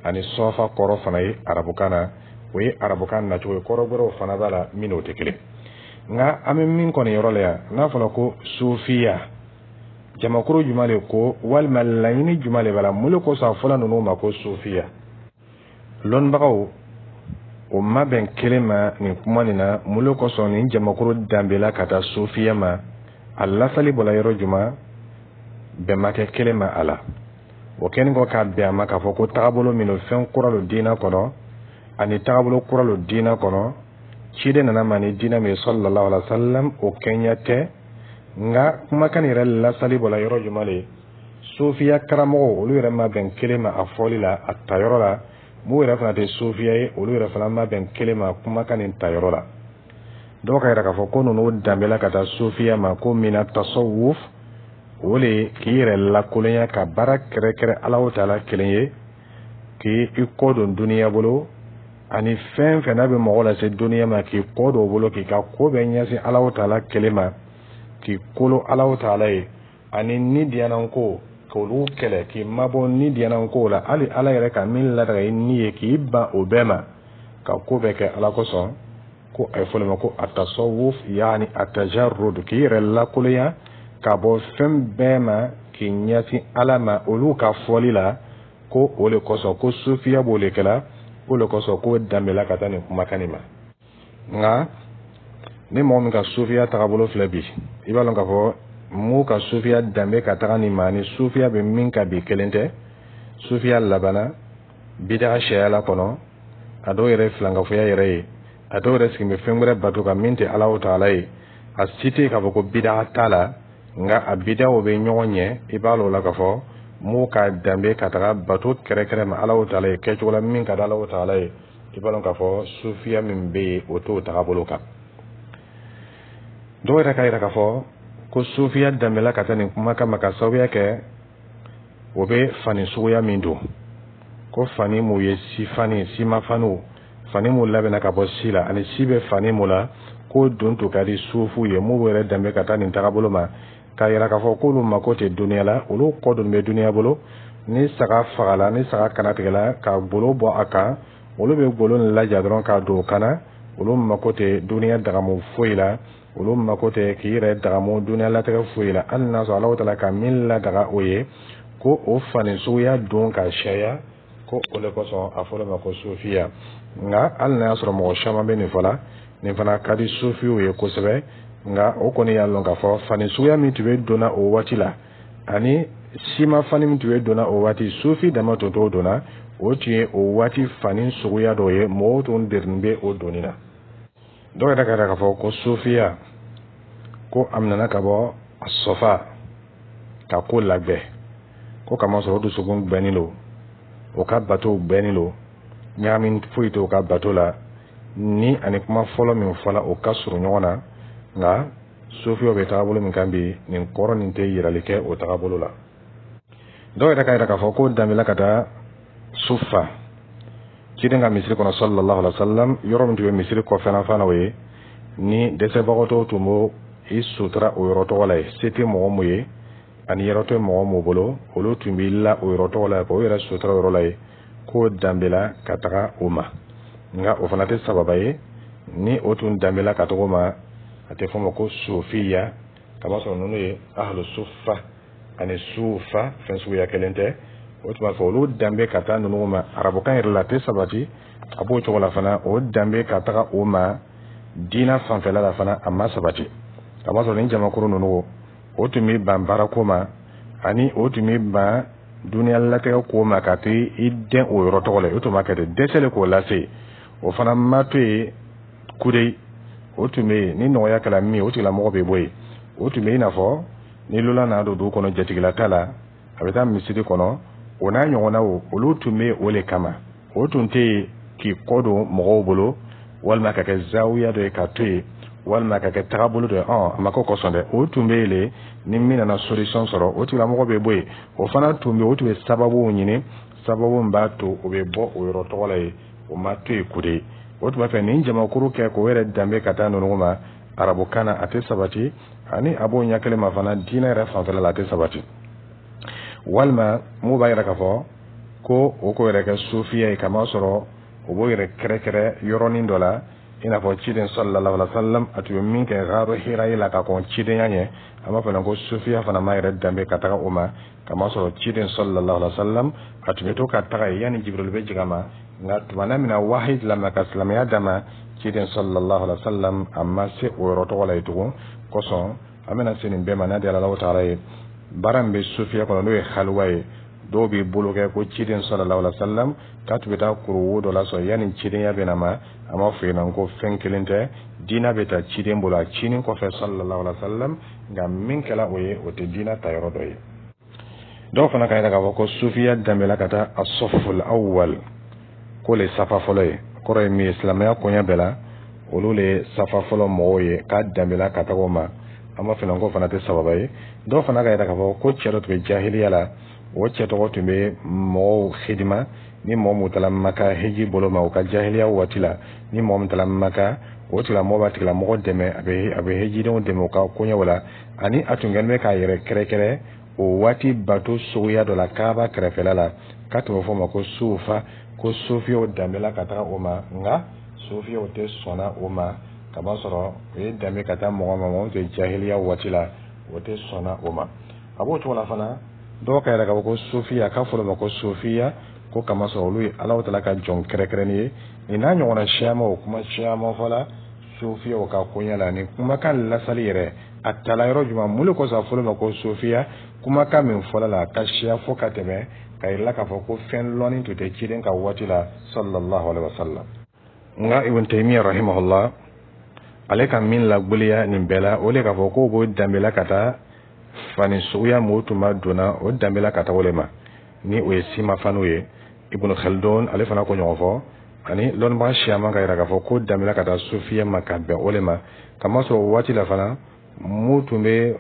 ani sɔfa kɔrɔ fana ye arabukan na. O ye arabukan nacogo ye. Kɔrɔ wɛrɛw fana b'a la min n'o tɛ kelen. Nka an bɛ min kɔni yɔrɔ la yan, n'a fɔra ko sofiya, jamakuru jumɛn de ko, walima laɲini jumɛn de b'a la, mun de kosɔn a fɔla ninnu ma ko sofiya? Lɔnnibagaw o ma bɛn kelen ma nin kuma nin na. Mun de kosɔn nin jamakuru danbela ka taa sofiya ma? A lasali bɔla yɔrɔ jumɛn? Bɛn ma kɛ kelen ma a la. O kɛlen kɔ k'a bɛn a ma k'a fɔ ko tagabolo min don, fɛn kura don diinɛ kɔnɔ, ani tagabolo kura don diinɛ kɔnɔ, ciden nana ma ni diinɛ min ye sallallahu alaihi wa sallam, o kɛɲɛ tɛ. Nka kumakan yɛrɛ lasali bɔla yɔrɔ jumɛn de? Sofiya karamɔgɔw, olu yɛrɛ ma bɛn kelen ma a fɔli la, a tayɔrɔ la. Mun yɛrɛ fana tɛ sofiya ye, olu yɛrɛ fana ma bɛn kelen ma kumakan nin tayɔrɔ la. Dɔw ka yɛrɛ k'a fɔ ko ninnu danbela ka taa sofiya ma ko mina tasawuf, o le ye k'i yɛrɛ lakolonya ka baara kɛrɛkɛrɛ Alahu Taala kelen ye, k'i kɔ don duniya bolo ani fɛn fɛn n'a bɛ mɔgɔ lase duniya ma, k'i kɔ don o bolo, k'i ka ko bɛɛ ɲɛsin Alahu Taala kelen ma, k'i kolo Alahu Taala ye, ani ni diyananko k'olu kɛlɛ, k'i mabɔ ni diyananko la, hali Ala yɛrɛ ka min ladaga i ni ye, k'i ban o bɛɛ ma, ka ko bɛɛ kɛ Ala kosɔn. Ko a ye fɔ ma ko atasawuf, yaani atajarrud, k'i yɛrɛ lakolonya ka bɔ fɛn bɛɛ ma k'i ɲɛsin Ala ma. Olu ka fɔli la, ko o le kosɔn ko sufiya b'o le kɛla, o le kosɔn ko danbela ka taa nin kumakan nin ma. Nka ni mɔgɔ min ka sufiya tagabolo filɛ bi, i b'a lɔn k'a fɔ mun ka sufiya danbe ka taga nin ma ni sufiya bɛ min ka bi kelen tɛ. Sufiya labanna bidaga sariya la kɔnɔ, a dɔw yɛrɛ ye filankafoya yɛrɛ ye. A dɔw yɛrɛ sigin bɛ fɛn wɛrɛ bato kan min tɛ Alahu taala ye. A si tɛ k'a fɔ ko bidaa t'a la, nka a bidaw bɛ ɲɔgɔn ɲɛ. I b'a lɔn o la k'a fɔ m'u ka danbe ka taga bato kɛrɛkɛrɛ ma Alahu taala ye kɛcogo la min ka di Alahu taala ye. I b'a lɔn k'a fɔ sufiya min bɛ yen, o t'o tagabolo kan. Dɔw yɛrɛ k'a yira k'a fɔ ko sufiya danbela ka taa nin kumakan ma ka sababuya kɛ o bɛ fani suguya min don, ko fani mun ye si fani, simafaniw, fani mun labɛnna ka bɔ si la, ani si bɛ fani mun la, k'o don tun ka di sufuw ye. M'u yɛrɛ danbe ka taa nin tagabolo ma k'a yira k'a fɔ k'olu mako tɛ duniya la, olu kɔ don bɛ duniya bolo. Ni saga fagala, ni saga kanatigɛla ka golo bɔ a kan, olu bɛ golo nin laja dɔrɔn k'a don o kana. Olu mako tɛ duniya dagamu foyi la, olu mako tɛ k'i yɛrɛ dagamu duniya latigɛ foyi la, hali n'a sɔrɔ Alahu taala ka min ladaga o ye, ko o fani suguya don ka caya, ko o de kosɔn a fɔra ma ko sufiya. Nka hali n'a y'a sɔrɔ mɔgɔ caman bɛ nin fɔ la, nin fana ka di sufiw ye kosɛbɛ. Nka o kɔni y'a lɔn k'a fɔ fani suguya min tun bɛ donna o waati la, ani sima fani min tun bɛ donna o waati, sufi dama tun t'o donna. O tun ye o waati fani suguya dɔ ye, mɔgɔw tun derin bɛ o donni na. Dɔw yɛrɛ ka k'a fɔ ko sufiya, ko a minɛna ka bɔ a sɔfa ka ko lagbɛ, ko kamasɔrɔ o dusukun gbɛnnen don, o ka bato gbɛnnen don, ɲagami foyi t'o ka bato la. Ni ani kuma fɔlɔ min fɔla, o ka surun ɲɔgɔn na. Nka sufiyaw bɛ tagabolo min kan bi, nin kɔrɔ nin tɛ yirali kɛ o tagabolo la. Dɔw yɛrɛ ka yira k'a fɔ ko danbela ka taa sufa, ciden ka misiri kɔnɔ sallallahu alaihi wa sallam, yɔrɔ min tun bɛ misiri kɔfɛla fana, o ye ni dɛsɛbagatɔw tun b'o i sutura o yɔrɔ tɔgɔ la ye. Se tɛ mɔgɔ mun ye ani yɔrɔ tɛ mɔgɔ mun bolo, olu tun b'i la o yɔrɔ tɔgɔ la k'o yɛrɛ sutura o yɔrɔ la ye, k'o danbela ka taga o ma. Nka o fana tɛ sababa ye. Ni o tun danbela ka taga o ma, a tɛ fɔ o ma ko sofiya, kamasɔrɔ ninnu ye ahlu sufa ani sufa fɛn suguya kelen tɛ. O tuma fɔ olu danbe ka taa ninnu ma arabukan yɛrɛ la, a tɛ sabati. A b'o cogo la fana, o danbe ka taga o ma diina fanfɛla la fana, a ma sabati, kamasɔrɔ nin jamakuru ninnu, o tun bɛ ban baarako ma, ani o tun bɛ ban duniya latigɛ ko ma, ka to i dɛn o yɔrɔ tɔgɔ la. O tun b'a kɛ ten, dɛsɛ de k'o lase, o fana ma to yen kudeyi. O tun bɛ yen, ni nɔgɔya kɛra min ye, o tigilamɔgɔ bɛ bɔ yen. O tun bɛ i n'a fɔ ni lola nana don dugu kɔnɔ, jatigila t'a la, a bɛ taa misiri kɔnɔ, o n'a ɲɔgɔnnaw, olu tun bɛ o le kama. O tun tɛ yen k'i kɔ don mɔgɔw bolo, walima ka kɛ zawiya dɔ ye ka to yen, walima ka kɛ tagabolo dɔ ye. A ma k'o kosɔn dɛ. O tun bɛ yen le, ni min nana solution sɔrɔ, o tigilamɔgɔ bɛ bɔ yen. O fana tun bɛ, o tun bɛ sababuw ɲini, sababu min b'a to o bɛ bɔ o yɔrɔ tɔgɔ la yen. O ma to yen kude. O tun b'a fɛ nin jamakuru kɛ k'o yɛrɛ danbe ka taa ninnu ma arabukan na, a tɛ sabati. Ani a b'o ɲɛ kelen ma fana, diinɛ yɛrɛ fanfɛla la, a tɛ sabati. Walima mun b'a yɛrɛ k'a fɔ ko o k'o yɛrɛ kɛ sufiya ye, kamasɔrɔ o b'o yɛrɛ kɛrɛkɛrɛ yɔrɔnin dɔ la, i n'a fɔ ciden sallallahu alaihi wa sallam, a tun bɛ min kɛ gaaru hira ye la ka kɔn cidenya ɲɛ. An b'a fɔ ko sufiya fana ma yɛrɛ danbe ka taga o ma, kamasɔrɔ ciden sallallahu alaihi wa sallam, a tun bɛ to ka taga yen yanni Jibril bɛ jigin a ma. Nka tumana min na wahayi dila ma ka silamɛya d'a ma, ciden sallallahu alaihi wa sallam, a ma se o yɔrɔ tɔgɔ la yen tugun. Kosɔn an bɛna se nin bɛɛ ma n'a di Alahu taala ye. Baara min bɛ sufiya kɔnɔ, n'o ye haliwa ye, dɔw b'i bolo kɛ ko ciden sallallahu alaihi wa sallam k'a tun bɛ taa kuruwo dɔ lasɔrɔ yanni cidenya bɛ na ma. A ma fɔ yen ko fɛn kelen tɛ, diinɛ bɛ taa ciden bolo a cinin kɔfɛ sallallahu alaihi wa sallam. Nka min kɛra o ye, o tɛ diinɛ ta yɔrɔ dɔ ye. Dɔw fana ka yira k'a fɔ ko sufiya danbela ka taa asɔful awwal, k'o le safa fɔlɔ ye. Kɔrɔ ye min ye, silamɛya koɲɛ bɛɛ la, olu le ye safa fɔlɔ mɔgɔw ye, k'a danbela ka taga o ma. An b'a fɔ ko fana tɛ sababa ye. Dɔw fana ka yira k'a fɔ ko cɛ dɔ tun bɛ jahiliya la, o cɛ tɔgɔ tun bɛ mɔgɔw hidima. Ni mɔgɔ mun taara Maka hiji bolo ma, u ka jahiliya waati la, ni mɔgɔ min taara Maka, o tigilamɔgɔ b'a tigilamɔgɔ dɛmɛ, a bɛ hijidenw dɛmɛ u ka koɲɛw la. Ani a tun kɛlen bɛ k'a yɛrɛ kɛrɛkɛrɛ o waati bato suguya dɔ la Kaaba kɛrɛfɛla la, k'a tun bɛ fɔ o ma ko sufa, ko sufiyaw danbela ka taga o ma. Nka sufiyaw tɛ sɔnna o ma, kamasɔrɔ o ye danbe ka taa mɔgɔ ma, mɔgɔ min tun ye jahiliya waati la, o tɛ sɔnna o ma. A b'o cogo la fana, dɔw ka yɛrɛ k'a fɔ ko sofiya, k'a fɔra o ma ko sofiya ko kamasɔrɔ olu ye Alahu taala ka jɔn kɛrɛnkɛrɛnnen ye. Nin n'a ɲɔgɔnna siyaman, o kuma siyaman fɔla sofiyaw ka koɲɛ la. Nin kumakan lasali yɛrɛ, a tala yɔrɔ jumɛn? Mun de kosɔn a fɔra o ma ko sofiya? Kumakan min fɔla la, a ka siya fo ka tɛmɛ, ka yira k'a fɔ ko fɛn lɔnni tun tɛ ciden ka waati la sallallahu alaihi wa sallam. Nka Ibn Taymiya rahimahullah, ale ka min lagbeliya nin bɛɛ la, o le k'a fɔ k'o b'o danbela ka taa fani suguya m'o tun ma donna, o danbela ka taa o le ma, ni o ye simafaniw ye. Ibn Khaldun, ale fana ko ɲɔgɔn fɔ, ani lɔnnibaga siyaman ka yira k'a fɔ ko danbela ka taa sufiya ma ka bɛn o le ma, kamasɔrɔ o waati la fana mun tun bɛ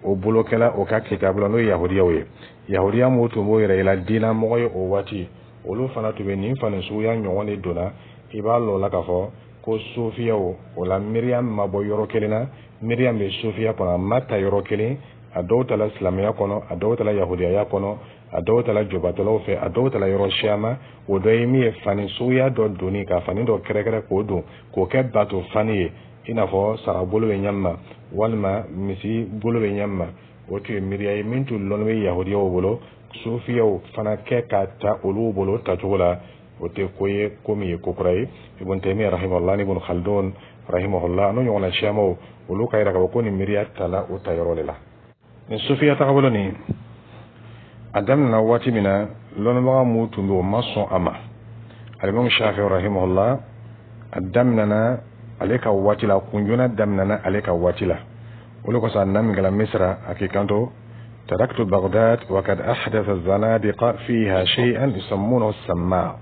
o bolokɛla o ka kitabu la, n'o ye yahudiyaw ye. Yahudiya mun tun b'o yɛrɛ yira diinamɔgɔ ye o waati, olu fana tun bɛ nin fani suguya ɲɔgɔn de donna. I b'a lɔn o la k'a fɔ ko sufiyaw o la miiriya ma bɔ yɔrɔ kelen na. Miiriya bɛ sufiya kɔnɔ, a ma ta yɔrɔ kelen. A dɔw tala silamɛya kɔnɔ, a dɔw tala yahudiyaya kɔnɔ, a dɔw tala jobatɔlaw fɛ, a dɔw tala yɔrɔ siyama. O dɔ ye min ye, fani suguya dɔ donni, ka fani dɔ kɛrɛkɛrɛ k'o don, k'o kɛ bato fani ye, i n'a fɔ saga bolo bɛ ɲɛ ma walima misi bolo bɛ ɲɛ ma. O tun ye miiriya ye min tun lɔnni bɛ yahudiyaw bolo. Sufiyaw fana kɛ ka ta olu bolo tacogo la, o tɛ ko ye ko min ye ko kura ye. Ibn Taymiya rahimahullah ni Ibn Khaldun rahimahullah, n'o ɲɔgɔnna siyamaw, olu ka yira k'a fɔ ko nin miiriya tala o ta yɔrɔ de la. Nin sufiya tagabolo nin, a daminɛna waati min na, lɔnnibaga mun tun bɛ, o ma sɔn a ma. Alimami Shafi rahimahullah, a daminɛna ale ka waati la, kunjona daminɛna ale ka waati la. O de kosɔn a nana min kɛla Misira, a k'i kanto: تركت بغداد وقد أحدث الزنادقة فيها شيئا يسمونه السماع.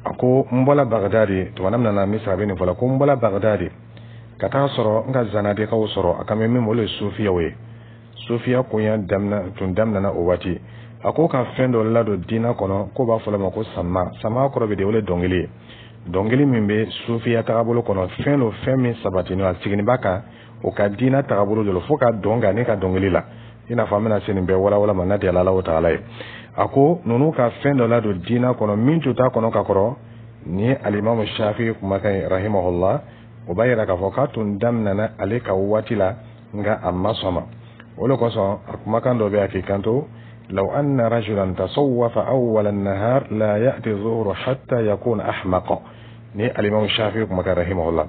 A ko n bɔla Bagdadi tuma min na Misira, bɛ nin fɔ la ko n bɔla Bagdadi ka taa sɔrɔ n ka zanadikaw sɔrɔ, a kan bɛ min ma, olu ye sufiyaw ye. Sufiya koɲɛ daminɛ tun daminɛna o waati. A ko ka fɛn dɔ ladon diinɛ kɔnɔ k'o b'a fɔ ma ko sama. Sama kɔrɔ bɛ de, o ye dɔnkili ye, dɔnkili min bɛ sufiya tagabolo kɔnɔ. Fɛn don, fɛn min sabatinen a sigilen b'a kan o ka diinɛ tagabolo de fo ka dɔn kan ne ka dɔnkili la, i n'a fɔ an bɛna se nin bɛɛ walawala ma n'a di Ala taala ye. A ko ninnu ka fɛn dɔ ladon diinɛ kɔnɔ min tun t'a kɔnɔ ka kɔrɔ. Nin ye alimamu Shafi kumakan ye rahimahullah. O b'a yira k'a fɔ k'a tun daminɛna ale ka waati la, nka a ma sɔn ma. O de kosɔn a kumakan dɔ bɛ yen, a k'i kanto: لو أن رجلا تصوف أول النهار لا يأتي الظهر حتى يكون أحمق. Ni alimamu Shafi kumakan rahimahullah,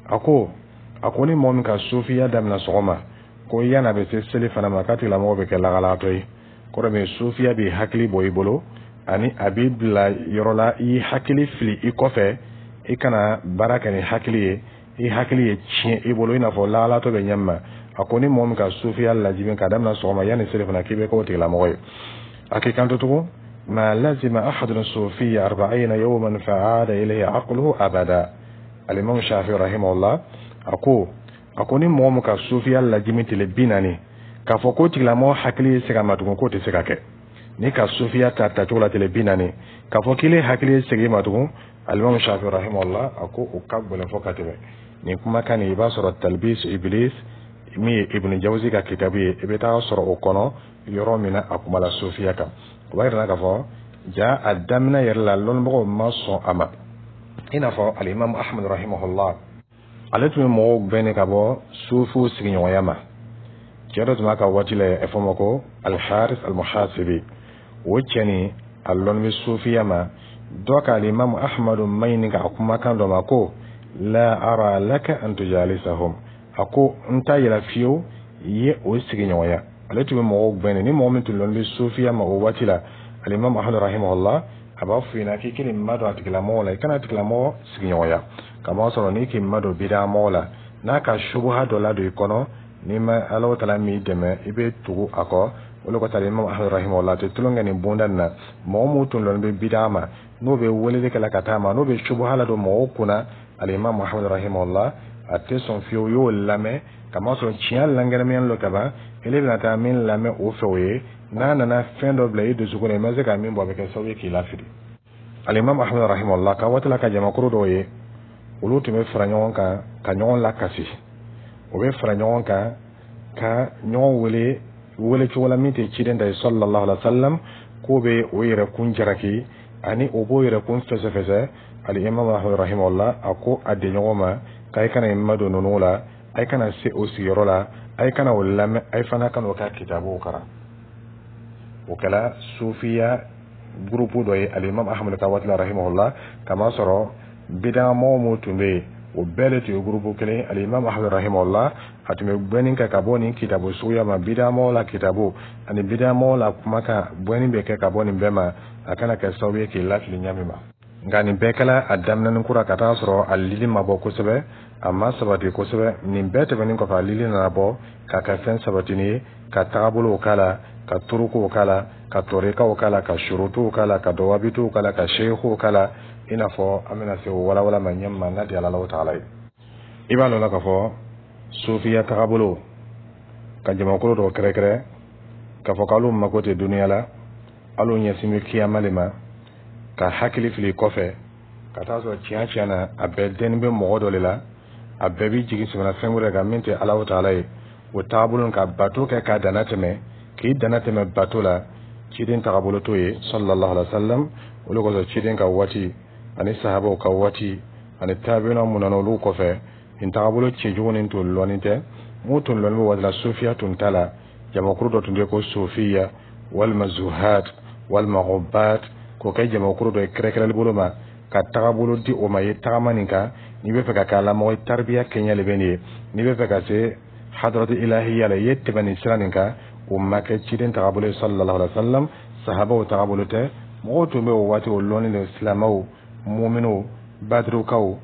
a ko ni mɔgɔ min ka sufiya daminɛ sɔgɔma, ko yan'a bɛ se seli fana ma, k'a tigilamɔgɔ bɛ kɛ lagalagatɔ ye. Kɔrɔ min, sufiya b'i hakili bɔ i bolo, ani a b'i bila yɔrɔ la, i hakili fili i kɔfɛ, i kana baara kɛ ni hakili ye, i hakili ye tiɲɛ i bolo, i n'a fɔ lagalatɔ bɛ ɲɛ ma. A ko ni mɔgɔ min ka sufiya lajibin ka daminɛ sɔgɔma, yanni seli fana, k'i bɛ k'o tigilamɔgɔ ye. A k'i kanto tugun: ما لزم أحد الصوفية 40 يوما فعاد إليه عقله أبدا. الإمام الشافعي رحمه الله a ko ni mɔgɔ min ka sufiya lajimi tile 40, k'a fɔ ko tigilamɔgɔ hakili ye se ka ma tugun, k'o tɛ se ka kɛ. Ni ka sufiya ta tacogo la tile 40, k'a fɔ k'ile hakili ye segin ma tugun, alimami Shafi rahimahullah, a ko o ka gɛlɛn fɔ ka tɛmɛ. Nin kumakan nin, i b'a sɔrɔ Talbis Iblis, min ye Ibn Jawzi ka kitabu ye, i bɛ taa sɔrɔ o kɔnɔ yɔrɔ min na a kumala sufiya kan. O b'a yira k'a fɔ ja a daminɛ yɛrɛ la, lɔnnibagaw ma sɔn a ma. I n'a fɔ alimami Ahmad rahimahullah, ale tun bɛ mɔgɔw gɛn ka bɔ sufiw sigiɲɔgɔnya ma. Cɛ dɔ tun b'a ka waati la, a fɔ ma ko Alharis Almuhasibi. O cɛ nin, a lɔnni bɛ sufiya ma. Dɔ ka alimamu Ahmadu maɲini k'a kumakan dɔ ma ko: la ara laka an tujalisahum. A ko n t'a yira fiyewu i ye o sigiɲɔgɔnya. Ale tun bɛ mɔgɔw gɛn ni mɔgɔ min tun lɔnni bɛ sufiya ma o waati la. Alimami Ahmadu rahimahullah, a b'a f'i ɲɛna k'i k'i ma don a tigilamɔgɔ la, i kana tigilamɔgɔ sigiɲɔgɔnya, kamasɔrɔ n'i k'i ma don bidamɔgɔ la, n'a ka subuha dɔ ladon i kɔnɔ, n'i ma Ala taala m'i dɛmɛ, i bɛ tugu a kɔ. O de kosɔn alimami Ahmadu rahimahullah tɛ tulon kɛ nin bonda nin na. Mɔgɔ mun tun lɔnni bɛ bida ma, n'o bɛ weleli kɛ la ka taa ma, n'o bɛ subuha ladon mɔgɔw kunna, alimami Muhammad rahimahullah, a tɛ sɔn fiyewu i y'o lamɛn, kamasɔrɔ tiɲɛ lankɛnɛmaya lɔ kaban. Ele bɛna taa min lamɛn o fɛ, o ye n'a nana fɛn dɔ bila i dusukun na, i ma se ka min bɔ, a bɛ kɛ sababu ye k'i lafili. Alimami Ahmad rahimahullah ka waati la, ka jamakuru dɔw ye, olu tun bɛ fara ɲɔgɔn kan ka ɲɔgɔn lakasi. O bɛ fara ɲɔgɔn kan ka ɲɔgɔn wele wele cogo la min tɛ ciden ta ye sallallahu alaihi wa sallam, k'o bɛ o yɛrɛ kun jalaki, ani o b'o yɛrɛ kun fɛsɛfɛsɛ. Alimami Ahmad rahimahullah, a ko a denɲɔgɔn ma k'a kana i madon ninnu la, a kana se o sigiyɔrɔ la, a kana o lamɛn, a fana kana o ka kitabuw karan. O kɛra sufiya groupe dɔ ye alimami Ahmad ka waati la rahimahullah, kamasɔrɔ bidamɔgɔ mun tun bɛ yen, o bɛɛ de tun ye groupe kelen. Alimami Ahmad rahimahullah, a tun bɛ gbɛnni kɛ ka bɔ nin kitabu suguya ma, bidamɔgɔ la kitabu ani bidamɔgɔ la kumakan. Gbɛnni bɛ kɛ ka bɔ nin bɛɛ ma, a kana kɛ sababu ye k'i lafili ɲami ma. Nka nin bɛɛ kɛla a daminɛni kura ka taa sɔrɔ a lili ma bɔ kosɛbɛ, a ma sabati kosɛbɛ. Nin bɛɛ tɛmɛnen kɔfɛ, a lili nana bɔ ka kɛ fɛn sabatini ye, ka tagabolow k'a la, ka turukuw k'a la, ka tɔrikaw k'a la, ka surutuw k'a la, ka dɔwabituw k'a la, ka seekuw k'a la, i n'a fɔ an bɛna se o walawala ma ɲɛ ma n'a di Ala taala ye. I b'a lɔn la k'a fɔ sofiya tagabolo ka jamakulu dɔw kɛrɛkɛrɛ k'a fɔ k'alu mako tɛ duniya la, alu ɲɛsin bɛ kiyama le ma, ka hakili fili kɔfɛ ka taa sɔrɔ tiɲɛ tiɲɛ na, a bɛɛ dɛnni bɛ mɔgɔ dɔ de la, a bɛɛ b'i jigi sɛmɛna fɛn wɛrɛ kan min tɛ Alahu taala ye. O taabolo ka bato kɛ k'a danna tɛmɛ, k'i danna tɛmɛ bato la, ciden tagabolo t'o ye sallallahu alaihi wa sallam. Olu kosɔn, ciden ka waati ani sahabaw ka waati ani taabina mun nana olu kɔfɛ, nin tagabolo cɛjugu nin tun lɔnni tɛ. Mun tun lɔnni bɛ waati la, sofiya tun t'a la. Jamakuru dɔ tun tɛ ko sofiya walima zuhad walima ubat, k'o kɛ jamakuru dɔ ye kɛrɛkɛrɛli bolo ma, ka tagabolo di o ma ye tagama nin kan. N'i bɛ fɛ ka kɛ alamɔgɔ ye, taribiya kɛɲɛ de bɛ nin ye. N'i bɛ fɛ ka se hadaratu ilahiya la, i ye tɛmɛ nin sira nin kan. O ma kɛ ciden tagabolo ye sallallahu alaihi wa sallam, sahabaw tagabolo tɛ. Mɔgɔw tun bɛ o waati o lɔnni de, silamɛw, muminw, badirukaw,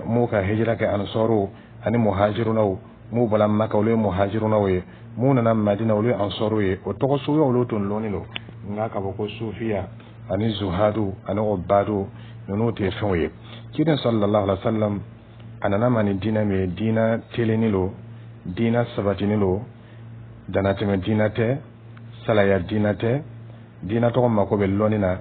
m'u ka hijira kɛ, ansɔrw ani muhajirunaw. M'u bɔra Maka, olu ye muhajirunaw ye. M'u nana Madina, olu ye ansɔrw ye. O tɔgɔ suguya olu tun lɔnni don. Nka k'a fɔ ko sufiya ani zuhadu ani obadu, ninnu tɛ fɛnw ye. Ciden sallallahu alaihi wa sallam a nana ma ni diinɛ min ye, diinɛ telenni lo, diinɛ sabatini lo, danatɛmɛ diinɛ tɛ, salaya diinɛ tɛ. Diinɛ tɔgɔ mako bɛ lɔnni na,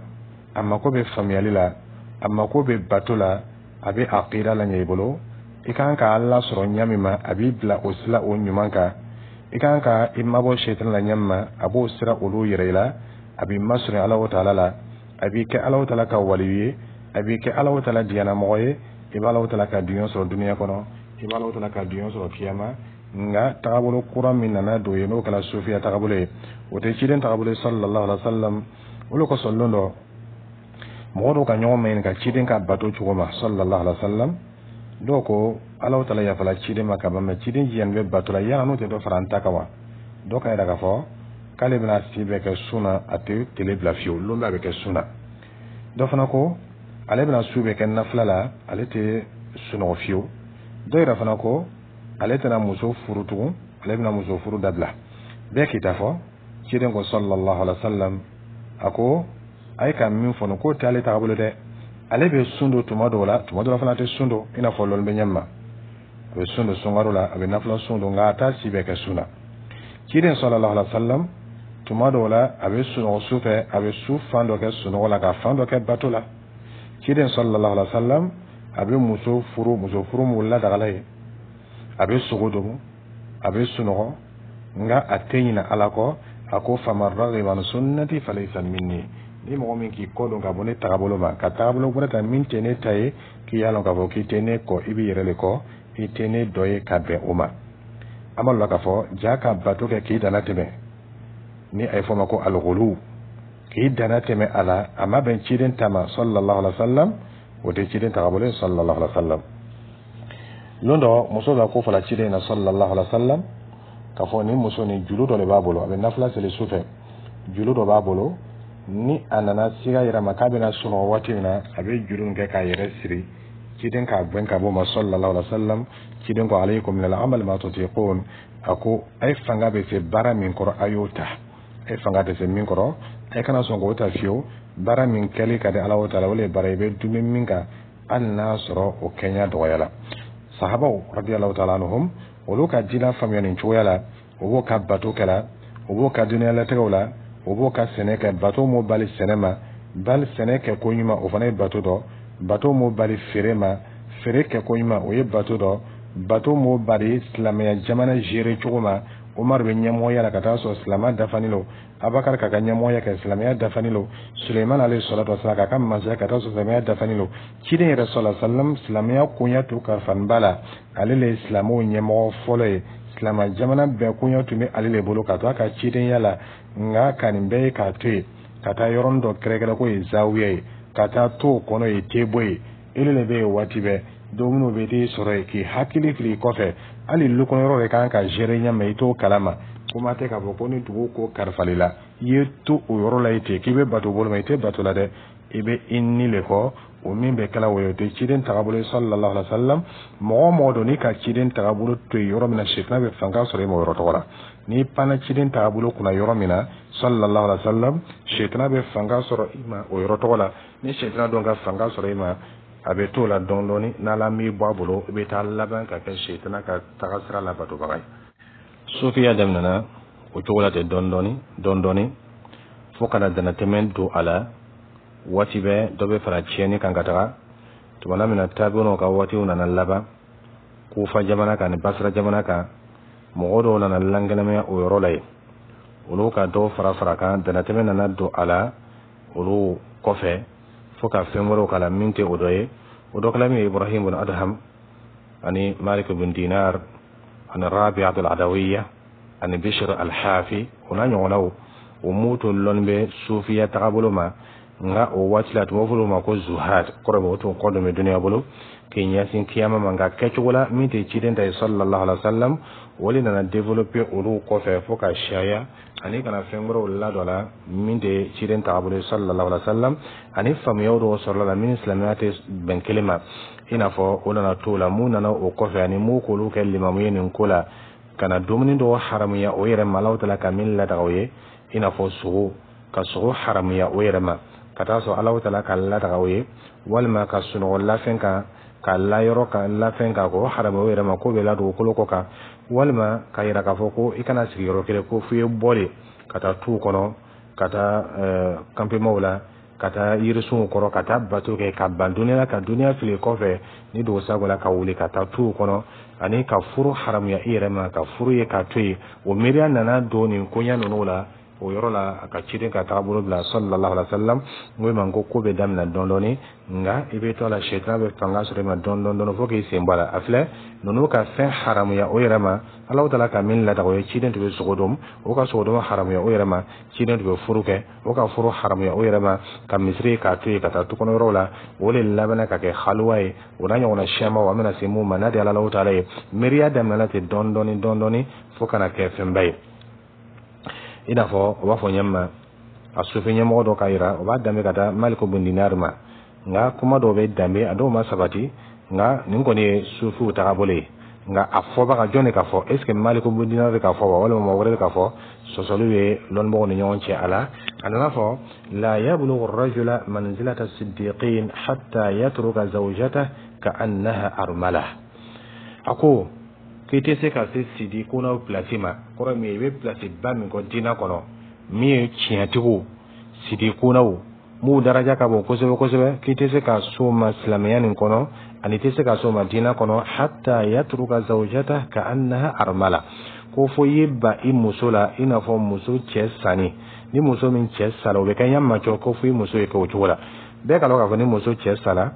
a mako bɛ faamuyali la, a mako bɛ bato la, a bɛ aqida la ɲɛ i bolo. I kan ka Ala sɔrɔ ɲa min ma, a b'i bila o sira o ɲuman kan. I kan ka i mabɔ sɛtana la ɲa min ma, a b'o sira olu yɛrɛ i la. A b'i masɔrɔ Ala taala la, a b'i kɛ Ala taala ka waliyu ye, a b'i kɛ Ala taala diyanamɔgɔ ye. I bɛ Ala taala ka duɲɔ sɔrɔ duniya kɔnɔ, i bɛ Ala taala ka duɲɔ sɔrɔ kiyama. Nka tagabolo kura min nana don ye, n'o kɛra sofiya tagabolo ye, o tɛ ciden tagabolo ye sallallahu alaihi wa sallam. Olu kosɔn, lon dɔ, mɔgɔ dɔw ka ɲɔgɔn maɲininka ciden ka bato cogo ma sallallahu alaihi wa sallam. Dɔw ko Ala taala yafala ciden ma ka ban, mɛ ciden jiyani bɛ bato la, yala n'o tɛ dɔ fara an ta kan wa? Dɔw ka yira k'a fɔ k'ale bɛna si bɛɛ kɛ sun na, a tɛ tele bila fiyewu, lon bɛɛ a bɛ kɛ sun na. Dɔ fana ko ale bɛna su bɛɛ kɛ nafila la, ale tɛ sunɔgɔ fiyewu. Dɔ yɛrɛ fana ko ale tɛna muso furu tugun, ale bɛna muso furu dabila. Bɛɛ k'i ta fɔ. Ciden ko sallallahu alaihi wa sallam, a ko a ye ka min fɔ nin k'o tɛ ale tagabolo dɛ. Ale bɛ sun don tuma dɔw la, tuma dɔw la fana a tɛ sun don, i n'a fɔ lɔnni bɛ ɲɛ ma, a bɛ sun don sunkalo la, a bɛ nafila sun don, nka a t'a si bɛɛ kɛ sun na. Ciden sallallahu alaihi wa sallam, tuma dɔw la a bɛ sunɔgɔ su fɛ, a bɛ su fan dɔ kɛ sunɔgɔ la ka fan dɔ kɛ bato la. Ciden sallallahu alaihi wa sallam a bɛ muso furu, muso furu mun ladagala ye, a bɛ sogo dogo, a bɛ sunɔgɔ, nka a tɛ ɲinɛ Ala kɔ. A ko faman ragiba an sunnati falaysa minni. Ni mɔgɔ min k'i kɔ don ka bɔ ne tagabolo ma, ka tagabolo wɛrɛ ta min tɛ ne ta ye, k'i y'a lɔn k'a fɔ k'i tɛ ne kɔ, i b'i yɛrɛ de kɔ, i tɛ ne dɔ ye ka bɛn o ma. An b'a lɔn k'a fɔ ja ka bato kɛ k'i danna tɛmɛ, ni a ye fɔ o ma ko alghulu, k'i danna tɛmɛ a la, a ma bɛn ciden ta ma sallallahu alaihi wa sallam. O tɛ ciden tagabolo ye sallallahu alaihi wa sallam. Lon dɔ, muso dɔ ko fɔla ciden na sallallahu alaihi wa sallam k'a fɔ nin muso nin, julu dɔ de b'a bolo, a bɛ nafila seli su fɛ, julu dɔ b'a bolo. Ni a nana siga yɛrɛ ma k'a bɛna sunɔgɔ waati min na, a bɛ juru in kɛ k'a yɛrɛ siri. Ciden k'a gɛn ka bɔ ma sallallahu alaihi wa sallam. Ciden ko alaykum min al-amal ma tutiqun. A ko a ye fanga bɛ se baara min kɔrɔ, a y'o ta. A ye fanga tɛ se min kɔrɔ, a ye kana sɔn k'o ta fiyewu. Baara min kɛli ka di Ala taala, o de ye baara i bɛ dumuni min kan, hali n'a sɔrɔ o kɛɲɛ dɔgɔya la. Sahabaw radiyallahu ta'ala anhum, olu ka diinɛ faamuya nin cogoya la. O b'o ka bato kɛla, o b'o ka duniyalatigɛw la, o b'o ka sɛnɛ kɛ. Bato m'o bali sɛnɛ ma, bali sɛnɛ kɛ ko ɲuman, o fana ye bato dɔ. Bato m'o bali feere ma, feere kɛ ko ɲuman, o ye bato dɔ. Bato m'o bali silamɛya jamana gérer cogo ma. Umaru bɛ ɲɛmɔgɔya la ka taa sɔrɔ silamɛ dafani lo, Abakar k'a ka ɲɛmɔgɔya kɛ, silamɛya dafani lo, Suleiman alayhi salatu wasalam k'a ka masaya ka taa sɔrɔ silamɛya dafani lo. Ciden yɛrɛ sallallahu alaihi wasallam, silamɛya koɲɛ to kalifanba la, ale le ye silamɛw ɲɛmɔgɔ fɔlɔ ye. Silamɛ jamana bɛɛ koɲɛ tun bɛ ale le bolo ka to a ka cidenya la. Nka ka nin bɛɛ ye k'a to yen ka taa yɔrɔnin dɔ kɛrɛkɛrɛ k'o ye zawiya ye, ka taa to o kɔnɔ ye te bɔ ye, ele le bɛ yen waati bɛɛ, dumuniw bɛ t'i sɔrɔ yen, k'i hakili fili kɔfɛ. Hali lu kɔnɔ yɔrɔ de kan ka gérer ɲɛ ma, i t'o kalama. Kuma tɛ k'a fɔ ko ni dugu ko kalifali la, i ye to o yɔrɔ la yen ten k'i bɛ bato bolo ma, i tɛ bato la dɛ, i bɛ i ni le kɔ. O min bɛ kɛla o ye, o tɛ ciden tagabolo ye sallallahu alaihi wa sallam. Mɔgɔ o mɔgɔ don n'i ka ciden tagabolo to yen yɔrɔ min na, sɛtana bɛ fanga sɔrɔ i ma o yɔrɔ tɔgɔ la. N'i panna ciden tagabolo kunna yɔrɔ min na sallallahu alaihi wa sallam, sɛtana bɛ fanga sɔrɔ i ma o yɔrɔ tɔgɔ la. Ni sɛtana dɔn ka fanga sɔrɔ i ma, a bɛ t'o la dɔɔni dɔɔni. N'Ala m'i bɔ a bolo, i bɛ taa laban ka kɛ sɛtana ka taga sira labatobaga ye. Sofiya daminɛna o cogo la ten, dɔɔni dɔɔni dɔɔni dɔɔni, fo kana danatɛmɛ don a la. Waati bɛɛ dɔ bɛ fara tiɲɛni kan ka taga. Tumana min na tabi'unaw ka waatiw nana laban Kufa jamana kan ni Basra jamana kan, mɔgɔ dɔw nana lankɛnɛmaya o yɔrɔ la yen. Olu ka dɔw fara fara kan, danatɛmɛ nana don a la olu kɔfɛ, fo ka fɛn wɛrɛw k'a la min tɛ o dɔ ye. O dɔ kɛla min ye, Ibrahim bin Adham ani Malik bin Dinar ani Rabi'at al-Adawiya ani Bishr al-Hafi, o n'a ɲɔgɔnnaw. O m'u to lɔnni bɛ sufiya tagabolo ma, nka o waati la, a tun bɛ fɔ olu ma ko zuhad. Kɔrɔ bɛ o tun kɔ don bɛ duniya bolo k'i ɲɛsin kiyama ma, nka kɛcogo la min tɛ ciden ta ye sallallahu alaihi wa sallam. O de nana développer olu kɔfɛ fo ka siyaya, ani kana fɛn wɛrɛw ladon a la min tɛ ciden tagabolo ye sallallahu alaihi wa sallam, ani faamuyaw dɔw sɔrɔla la min silamɛya tɛ bɛn kelen ma. I n'a fɔ o nana t'o la, mun nana o kɔfɛ ani mun k'olu kɛ limamu ye nin ko la, ka na dumuni dɔw haramuya o yɛrɛ ma, Alahu taala ka min ladaga o ye, i n'a fɔ sogo, ka sogo haramuya o yɛrɛ ma ka taa sɔrɔ Alahu taala ka ladaga o ye, walima ka sunɔgɔ lafɛn kan, ka layɔrɔ ka lafɛn kan, k'o haramuya o yɛrɛ ma, k'o bɛ la dugukolo kɔ kan, walima ka yira k'a fɔ ko i kana sigi yɔrɔ kelen, ko f'i ye bɔ de ka taa tuw kɔnɔ, ka taa campements la, ka taa yirisunw kɔrɔ, ka taa bato kɛ, ka ban duniya la, ka duniya fili kɔfɛ ni dugu sago la, ka wuli ka taa tuw kɔnɔ, ani ka furu haramuya i yɛrɛ ma, ka furu ye k'a to yen. O miiriya nana don nin koɲa ninnu la o yɔrɔ la, a ka ciden ka taabolo bila sallallahu alaihi wa sallam. N ko ma ko ko bɛ daminɛ dɔɔni dɔɔni, nka i bɛ to a la, sɛtana bɛ fanga sɔrɔ i ma dɔɔni dɔɔni dɔɔni fo k'i sen bɔ a la. A filɛ, ninnu ka fɛn haramuya o yɛrɛ ma, Alahu taala ka min ladaga o ye, ciden tun bɛ sogo dun, o ka sogo dun haramuya o yɛrɛ ma. Ciden tun bɛ furu kɛ, o ka furu haramuya o yɛrɛ ma, ka misiri k'a to yen, ka taa tukɔnɔ yɔrɔw la. O de labanna ka kɛ haluwa ye. O n'a ɲɔgɔnna siyamanw, an bɛna se mun ma n'a di Alahu taala ye. Miiriya daminɛna ten dɔɔni dɔɔni dɔɔni dɔɔni fo ka na kɛ fɛnba ye. I n'a fɔ o b'a fɔ ɲɛ ma, a sufi ɲɛmɔgɔ dɔ ka yira, o b'a danbe ka taa Maliku bin Dinar ma, nka kuma dɔw bɛ danbe, a dɔw ma sabati. Nka nin kɔni ye sufiw tagabolo ye. Nka a fɔbaga jɔn de ka fɔ? Est ce que Maliku bin Dinar de ka fɔ wa, walima mɔgɔ wɛrɛ de ka fɔ? Sɔsɔliw ye lɔnnibagaw ni ɲɔgɔn cɛ a la. A nana fɔ: la yablughu rajula manzilata siddiqin hatta yatruka zawjata ka annaha armala. A ko k'i tɛ se ka se sidi ko pilasi ma, kɔrɔ min ye, i bɛ pilasi ba min kɔ diinɛ kɔnɔ, min ye tiɲɛtigiw sidi kunnaw m'u daraja ka bon kosɛbɛ kosɛbɛ, k'i tɛ se ka s'o ma silamɛya nin kɔnɔ, ani tɛ se ka s'o ma diinɛ kɔnɔ, hatta yatruka zawjata ka annaha armala, ko fo i ye ba i muso la i n'a fɔ muso cɛ sanni. Ni muso min cɛ sala, o bɛ kɛ ɲɛ ma cɔ, ko fo i muso ye kɛ o cogo la. Bɛɛ ka dɔn k'a fɔ ni muso cɛ sala,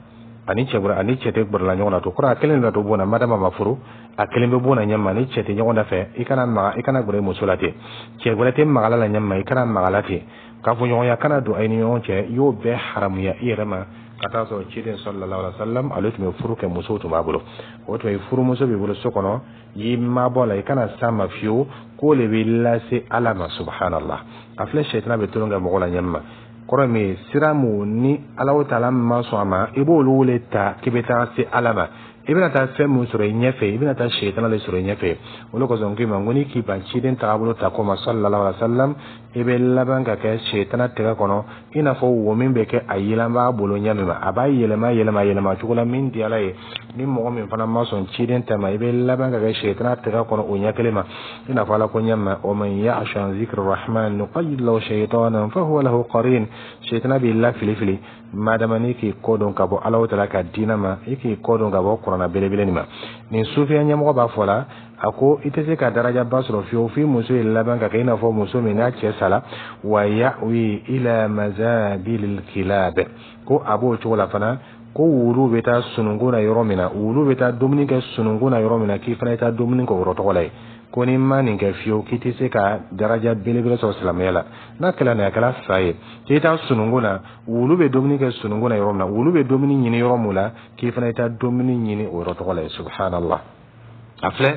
ani cɛ bɔra, ani cɛ tɛ gbɛrɛla ɲɔgɔn na to kɔrɔ, a kelen de to bon na. Madama ma furu, a kelen bɛ bon na ɲɛ ma. Ni cɛ tɛ ɲɔgɔn da fɛ, i kana maga, i kana gbɛrɛ muso la ten. Cɛ wɛrɛ tɛ magala la ɲɛ ma, i kana magala ten. Kafoɲɔgɔnya kana don a ni ɲɔgɔn cɛ. I y'o bɛɛ haramuya i yɛrɛ ma ka taa sɔrɔ ciden sallallahu alaihi wasallam, ale tun bɛ furu kɛ, musow tun b'a bolo. O tuma, i furumuso b'i bolo so kɔnɔ, i mabɔ la, i kana s'a ma fiyewu, k'o de b'i lase Ala ma. Subhanallah, a filɛ, sɛtana bɛ tulon kɛ mɔgɔ la ɲɛ ma. Kɔrɔ min ye, sira mun ni Alahu taala ma sɔn a ma, i b'olu le ta k'i bɛ taa se Ala ma, i bɛna taa fɛn mun sɔrɔ i ɲɛfɛ, i bɛna taa sɛtana de sɔrɔ i ɲɛfɛ. O de kosɔn n k'i ma ko n'i k'i ban ciden tagabolo ta ko ma sallallahu alaihi wa sallam, i bɛ laban ka kɛ sɛtana tɛgɛ kɔnɔ, i n'a fɔ wo min bɛ kɛ a yɛlɛn b'a bolo ɲɛ min ma, a b'a yɛlɛma yɛlɛma yɛlɛma cogo la min di Ala ye. Ni mɔgɔ min fana ma sɔn ciden ta ma, i bɛ laban ka kɛ sɛtana tɛgɛ kɔnɔ o ɲɛ kelen ma. I n'a fɔ Ala ko ɲɛ ma: wa man ya'shu an zikri rahman nuqayyid lahu shaytanan fa huwa lahu qarin. Sɛtana b'i la fili fili madama n'i k'i kɔ don ka bɔ Alahu taala ka diinɛ ma, i k'i kɔ don ka bɔ kuranna belebele nin ma. Nin sufiya ɲɛmɔgɔ b'a fɔ la, a ko i tɛ se ka darajaba sɔrɔ fiyewu f'i muso ye laban ka kɛ i n'a fɔ muso min n'a cɛ sala, wa ya'wi ila mazabilil kilab. Ko a b'o cogo la fana, ko wulu bɛ taa sununkun na yɔrɔ min na, wulu bɛ taa dumuni kɛ sununkun na yɔrɔ min na, k'i fana i taa dumuni kɛ o yɔrɔ tɔgɔ la yen. Ko ni ma nin kɛ fiyewu, k'i tɛ se ka daraja belebele sɔrɔ silamɛya la. N'a kɛla nin, a kɛla fa ye k'i taa sununkun na, wulu bɛ dumuni kɛ sununkun na yɔrɔ min na, wulu bɛ dumuni ɲini yɔrɔ min la, k'i fana i taa dumuni ɲini o yɔrɔ tɔgɔ la yen. Subhanallah, a filɛ,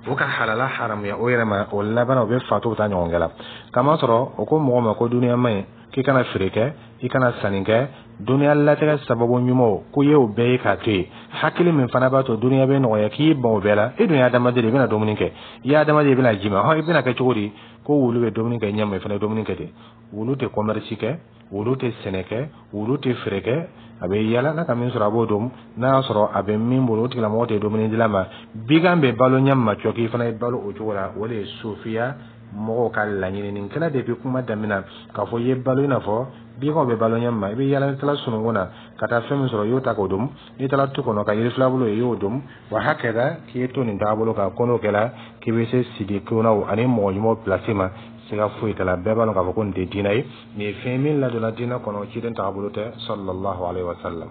o ka halala haramuya o yɛrɛ ma. O laban, o bɛ fatu bɛ taa ɲɔgɔn kɛ la. Kamasɔrɔ o ko mɔgɔ ma ko duniya ma ɲi, k'i kana feere kɛ, i kana sanni kɛ. Duniya latigɛ sababu ɲumanw ko i y'o bɛɛ ye k'a to yen. Hakili min fana b'a to duniya bɛ nɔgɔya, k'i ban o bɛɛ la. E dun ye adamaden de ye, i bɛna dumuni kɛ. I ye adamaden, i bɛna ji min. Hɔn, i bɛna kɛ cogo di? Ko wulu bɛ dumuni kɛ ɲɛ ma, i fana ye dumuni kɛ ten. Wulu tɛ commerce kɛ, wulu tɛ sɛnɛ kɛ, wulu tɛ feere kɛ. A bɛ yala, n'a ka min sɔrɔ, a b'o dun. N'a y'a sɔrɔ a bɛ min bolo, o tigilamɔgɔ tɛ dumuni dila ma. Bigan bɛ balo ɲɛ ma cɔ, k'i fana ye balo o cogo la. O de ye sofiya mɔgɔw ka laɲini. Nin kɛra depuis kuma daminɛ k'a fɔ i ye balo i n'a fɔ biganw bɛ balo ɲɛ ma. I bɛ yala, n'i taara sununkun na ka taa fɛn min sɔrɔ, i y'o ta k'o dun. N'i taara tu kɔnɔ ka yiri filabulu ye, i y'o dun. Wa hakɛda k'i ye to nin taabolo kan, ko n'o kɛra k'i bɛ se sidikunaw ani mɔgɔ ɲumanw place ma, siga foyi t'a la. Bɛɛ b'a dɔn k'a fɔ ko nin tɛ diinɛ ye. Nin ye fɛn min ladonna diinɛ kɔnɔ, ciden taabolo tɛ, sallallahu alaihi wa sallam.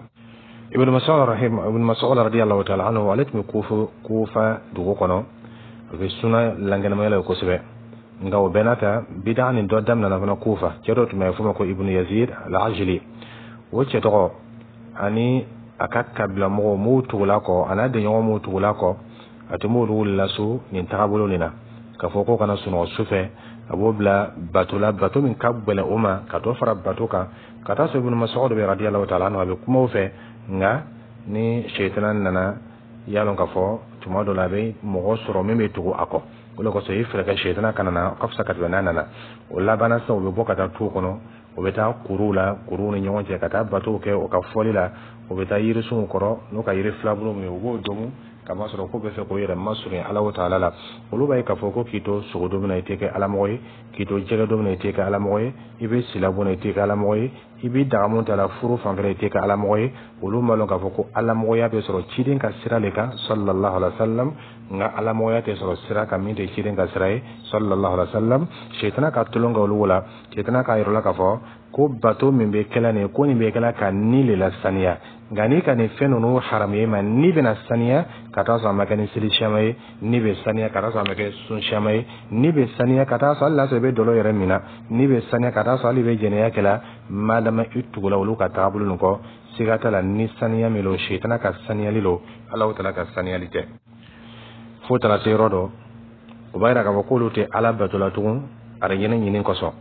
Ibn Mas'ud rahim, Ibn Mas'ud radiyallahu ta'ala anhu, ale tun bɛ Kufa dugu kɔnɔ. A bɛ suna lankɛnɛmaya la kosɛbɛ. Nka o bɛɛ n'a ta, bida nin dɔ daminɛna fana Kufa. Cɛ dɔ tun bɛ f'o ma ko Ibn Yazid al-Ajli. O cɛ tɔgɔ ani a ka kabila mɔgɔw m'u tugula kɔ, a n'a denɲɔgɔn m'u tugula kɔ. A tun b'olu laso nin tagabolo nin na, k'a fɔ ko kana sunɔgɔ su fɛ. A b'o bila bato la, bato min ka gɛlɛn o ma, ka dɔ fara bato kan ka taa sɔrɔ Ibn Mas'ud bɛ radiyallahu ta'ala anhu, a bɛ kuma o fɛ. Nka ni sɛtana nana, i y'a dɔn k'a fɔ tuma dɔ la, a bɛ mɔgɔ sɔrɔ min bɛ tugu a kɔ. O de kosɔn, i fɛɛrɛ kɛ sɛtana kana na, ka fisa ka tɛmɛ n'a nana. O labanna sisan, u bɛ bɔ ka taa tu kɔnɔ, u bɛ taa kuruw la, kuruw ni ɲɔgɔn cɛ, ka taa batow kɛ o ka fɔli la. U bɛ taa yirisunw kɔrɔ n'u ka yiri filabulu min ye, u b'o domu, kamasɔrɔ ko bɛ fɛ k'o yɛrɛ masurunya Ala taala la. Olu b'a ye k'a fɔ ko k'i to sogo dumuni na, i tɛ kɛ alamɔgɔ ye. K'i to jɛgɛ dumuni na, i tɛ kɛ alamɔgɔ ye. I bɛ silabɔ na, i tɛ kɛ alamɔgɔ ye. I bɛ dagamu ta la furu fanfɛla, i tɛ kɛ alamɔgɔ ye. Olu m'a lɔn k'a fɔ ko alamɔgɔya bɛ sɔrɔ ciden ka sira de kan, sallallahu alaihi wa sallam. Nka alamɔgɔya tɛ sɔrɔ sira kan min tɛ ciden ka sira ye, sallallahu alaihi wa sallam. Sɛtana ka tulon kɛ olu la. Sɛtana k'a yɔrɔ la k'a fɔ ko bato min bɛ kɛla nin ye, ko nin bɛ kɛla ka ni le la saniya. Nka n'i ka nin fɛn ninnu haramu ye ma, ni bɛna saniya ka taa sɔrɔ a ma kɛ ni seli siyama ye, ni bɛ saniya ka taa sɔrɔ a ma kɛ sun siyama ye, ni bɛ saniya ka taa sɔrɔ hali n'a sɔrɔ i bɛ dɔlɔ yɛrɛ min na, ni bɛ saniya ka taa sɔrɔ hali i bɛ jɛnɛya kɛ la, madama i tugula olu ka taabolo nin kɔ. Siga t'a la, ni saniya min don, sɛtana ka saniyali don, Alahu taala ka saniyali tɛ. Fo taara se yɔrɔ dɔ, o b'a yira k'a fɔ k'olu tɛ Ala bato la tugun arijinɛ ɲini kosɔn,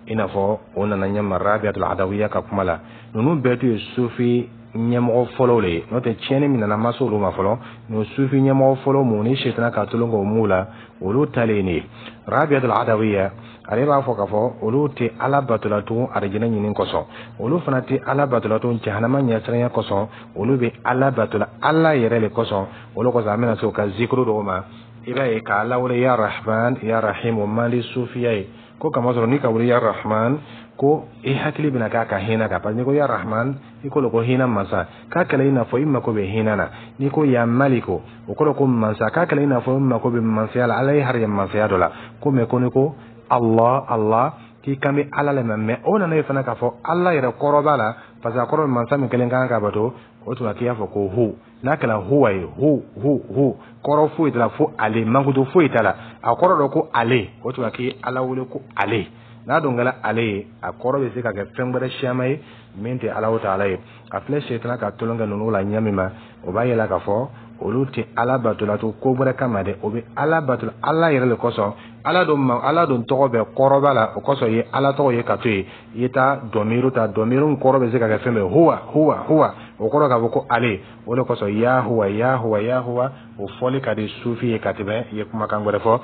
i n'a fɔ o nana ɲɛma Rabiatul Adawiya ka kuma la. Ninnu bɛɛ tun ye sufi ɲɛmɔgɔ fɔlɔw le ye. N'o tɛ, tiɲɛni min nana ma se olu ma fɔlɔ. Nin sufi ɲɛmɔgɔ fɔlɔ mun ni sɛtana ka tulon k'o m'u la, olu talen nin ye. Rabiatul Adawiya, ale b'a fɔ k'a fɔ olu tɛ Ala batola tugun arijinɛ ɲini kosɔn, olu fana tɛ Ala batola tugun jahanama ɲɛsiranya kosɔn. Olu bɛ Ala batola Ala yɛrɛ le kosɔn. Olu kosɔn, an bɛna se o ka zikuru dɔw ma. I b'a ye k'a Ala wele ya Rahman, ya Rahim, o man di sufiya ye. Ko kamasɔrɔ n'i ka wele ya Rahman, ko i hakili bɛna k'a ka hinɛ kan, parce que n'i ko ya Rahman, i ko ko hinɛ masa, k'a kɛlɛ i n'a fɔ i mako bɛ hinɛ na. N'i ko ya Maliko, o kɔrɔ ko mansa, k'a kɛlɛ i n'a fɔ i mako bɛ mansaya la, Ala ye harijɛ mansaya dɔ la. Ko mɛ ko n'i ko Allah, Allah, k'i kan bɛ Ala le ma. Mɛ o nana ye fana k'a fɔ Ala yɛrɛ kɔrɔ b'a la, parce que a kɔrɔ bɛ mansa min kelen kan ka bato. O tuma k'i y'a fɔ ko hu, n'a kɛra huwa ye, hu hu hu, kɔrɔ foyi t'a la fo ale, mankutu foyi t'a la, a kɔrɔ dɔ ko ale. O tuma k'i Ala wele ko ale, n'a dun kɛra ale ye, a kɔrɔ bɛ se ka kɛ fɛn wɛrɛ siyama ye min tɛ Ala taala ye. A filɛ, sɛtana ka tulon kɛ ninnu la ɲɛ min ma, o b'a yira k'a fɔ olu tɛ Ala batola to ko wɛrɛ kama dɛ, o bɛ Ala batola Ala yɛrɛ le kosɔn. Ala don ma, Ala don tɔgɔ bɛɛ kɔrɔba la. O kosɔn, i ye Ala tɔgɔ ye ka to yen, i ye taa dɔmiru ta. Dɔmiru kɔrɔ bɛ se ka kɛ fɛn bɛɛ. Huwa huwa huwa, o kɔrɔ k'a fɔ ko ale. O de kosɔn, ya huwa, ya huwa, ya huwa, o fɔli ka di sufi ye ka tɛmɛ i ye kumakan wɛrɛ fɔ.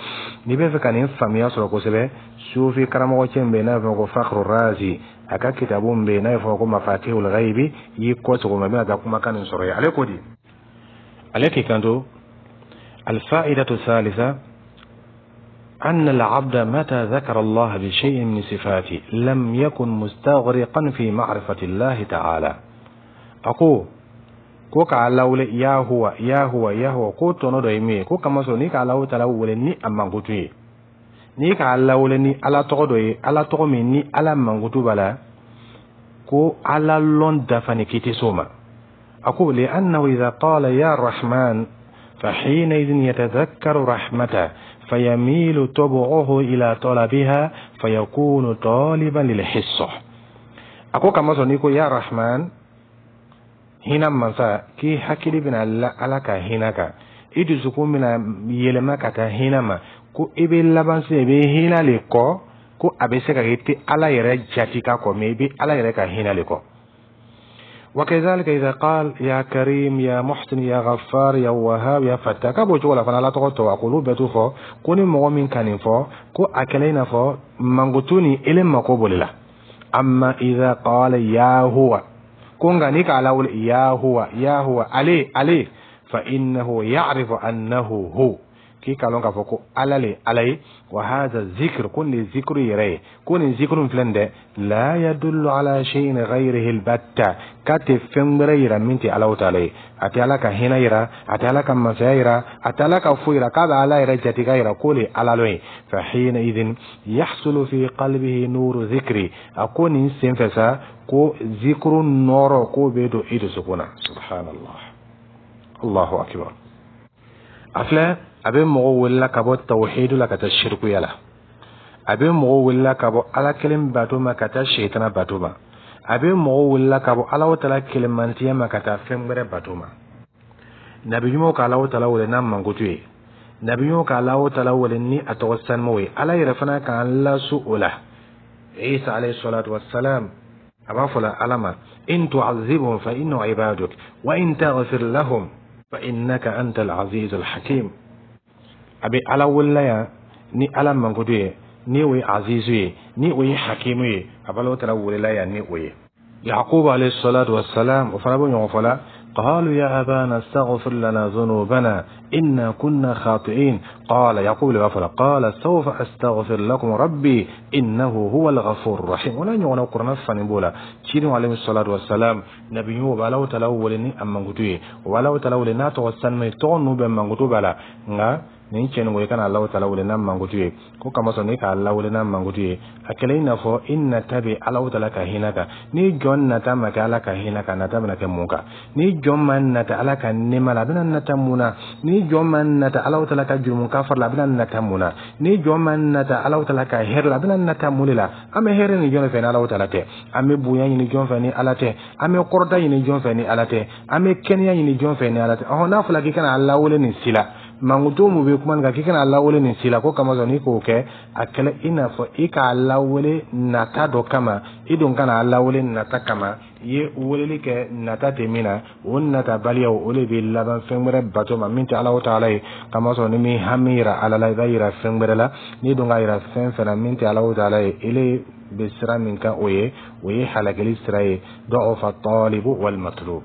N'i bɛ fɛ ka nin faamuya sɔrɔ kosɛbɛ, sufi karamɔgɔ cɛ min bɛ yen n'a bɛ fɔ ko Fakhru Razi, a ka kitabu min bɛ yen n'a bɛ fɔ ko Mafatihul Ghaibi, i y'i kɔ sɔgɔma, i bɛna taa kumakan nin sɔrɔ yen. Ale ko di? Ale k'i kanto: الفائدة الثالثة أن العبد متى ذكر الله بشيء من صفاته لم يكن مستغرقا في معرفة الله تعالى. أقول ko k'a lawele ya huwa, ya huwa, ya huwa, ko tɔnɔ dɔ ye min ye, ko kamasɔrɔ n'i k'a Alahu taala wele ni a mankutu ye, n'i k'a lawele ni Ala tɔgɔ dɔ ye, Ala tɔgɔ min ni Ala mankutu b'a la, ko Ala lɔn dafa ni k'i tɛ s'o ma. A ko لأنه إذا قال يا رحمن فحينئذ يتذكر رحمته فيميل طبعه إلى طلبها فيكون طالبا للحصة. A ko kamasɔrɔ n'i ko ya Rahman, hinɛ mansa, k'i hakili bɛna la Ala ka hinɛ kan, i dusukun bɛna yɛlɛma ka taa hinɛ ma, ko i bɛ laban se i bɛ hinɛ le kɔ, ko a bɛ se ka kɛ i tɛ Ala yɛrɛ jati ka kɔ, mɛ i bɛ Ala yɛrɛ ka hinɛ le kɔ. وكذلك إذا قال يا كريم يا محسن يا غفار يا وهاب يا فتاح, k'a b'o cogo la fana. Ala tɔgɔ tɔ, a k'olu bɛɛ t'u fɔ ko ni mɔgɔ min ka nin fɔ, ko a kɛlen i n'a fɔ mankutu ni ele mako b'o de la. أما إذا قال يا هو, ko nka ni k'a lawuli يا هو يا هو, ale ale, فإنه يعرف أنه هو, k'i k'a lɔn k'a fɔ ko Ala le Ala ye. وهذا الذكر, ko nin zikuru yɛrɛ ye, ko nin zikuru filɛ nin dɛ, لا يدل على شيء غيره البتة, k'a tɛ fɛn wɛrɛ yira min tɛ Alahu taala ye. A tɛ Ala ka hinɛ yira, a tɛ Ala ka masaya yira, a tɛ Ala ka foyi yira. K'a bɛ Ala yɛrɛ jate ka yira k'o le Ala lɔ ye. فحينئذ يحصل في قلبه نور الذكر, a ko nin sen fɛ sa, ko zikuru nɔrɔ k'o bɛ don i dusukun na. سبحان الله, الله أكبر. A filɛ, a bɛ mɔgɔw welela ka bɔ tawhidu la ka taa shirikuya la. A bɛ mɔgɔw welela ka bɔ Ala kelen bato ma ka taa shetana bato ma. A bɛ mɔgɔw welela ka bɔ Ala taala kelenmantiya ma ka taa fɛn wɛrɛ bato ma. Nabi ɲumanw ka Ala taala wele n'a mankutu ye, nabi ɲumanw ka Ala taala wele ni a tɔgɔ sanumaw ye. Ala yɛrɛ fana k'an lasu o la. Isa عليه الصلاة والسلام a b'a fɔ la Ala ma: إن تعذبهم فإنهم عبادك وإن تغفر لهم فإنك أنت العزيز الحكيم. A bɛ Ala welela yan ni Ala mankutu ye, ni o ye azizu ye, ni o ye hakimu ye. A b'Ala taala welela yan ni o ye. Yakubu عليه الصلاة والسلام, o fana bɛ ɲɔgɔn fɔ la: قالوا يا أبانا استغفر لنا ذنوبنا إنا كنا خاطئين. قال يعقوب لغفر, قال سوف أستغفر لكم ربي إنه هو الغفور الرحيم. ولا ɲɔgɔnna kuranɛ fani b'o la. Cidenw عليه الصلاة والسلام, nabi ɲumanw bɛ Alahu taala wele ni a mankutu ye, o bɛ Alahu taala wele n'a tɔgɔ sanuma ye. Tɔgɔ ninnu bɛɛ mankutu b'a la. Nka nin cɛ nin ko i kana Alahu taala wele n'a mankutu ye, ko kamasɔrɔ n'i k'a lawele n'a mankutu ye, a kɛlen i n'a fɔ i nata bɛ Alahu taala ka hinɛ kan. Ni jɔn nata ma kɛ Ala ka hinɛ kan, nata bɛna kɛ mun kan? Ni jɔn ma nata Ala ka nɛɛma la, a bɛna nata mun na? Ni jɔn ma nata Alahu taala ka jurumu kafari la, a bɛna nata mun na? Ni jɔn ma nata Alahu taala ka hɛrɛ la, a bɛna nata mun de la? An bɛ hɛrɛ ni jɔn de fɛ ni Alahu taala tɛ? An bɛ bonya ɲini jɔn fɛ ni Ala tɛ? An bɛ kɔrɔta ɲini jɔn fɛ ni Ala tɛ? An bɛ kɛnɛya ɲini jɔn fɛ ni Ala tɛ? Ɔhɔn, n'a fɔra k'i kana Ala wele nin si la, mankutu mun bɛ kuma nin kan k'i kana lawele nin si la, ko kamasɔrɔ n'i k'o kɛ, a kɛlɛ i n'a fɔ i k'a lawele nata dɔ kama. I dun kana lawele nata kama, i ye weleli kɛ nata tɛ min na. O natabaliyaw, o de bɛ laban fɛn wɛrɛ bato ma min tɛ Alahu taala ye. Kamasɔrɔ ni min hami yira Ala la, i b'a yira fɛn wɛrɛ la. N'i dun k'a yira fɛn fɛn na min tɛ Alahu taala ye, ele bɛ sira min kan, o ye halakili sira ye. ضعف الطالب والمطلوب.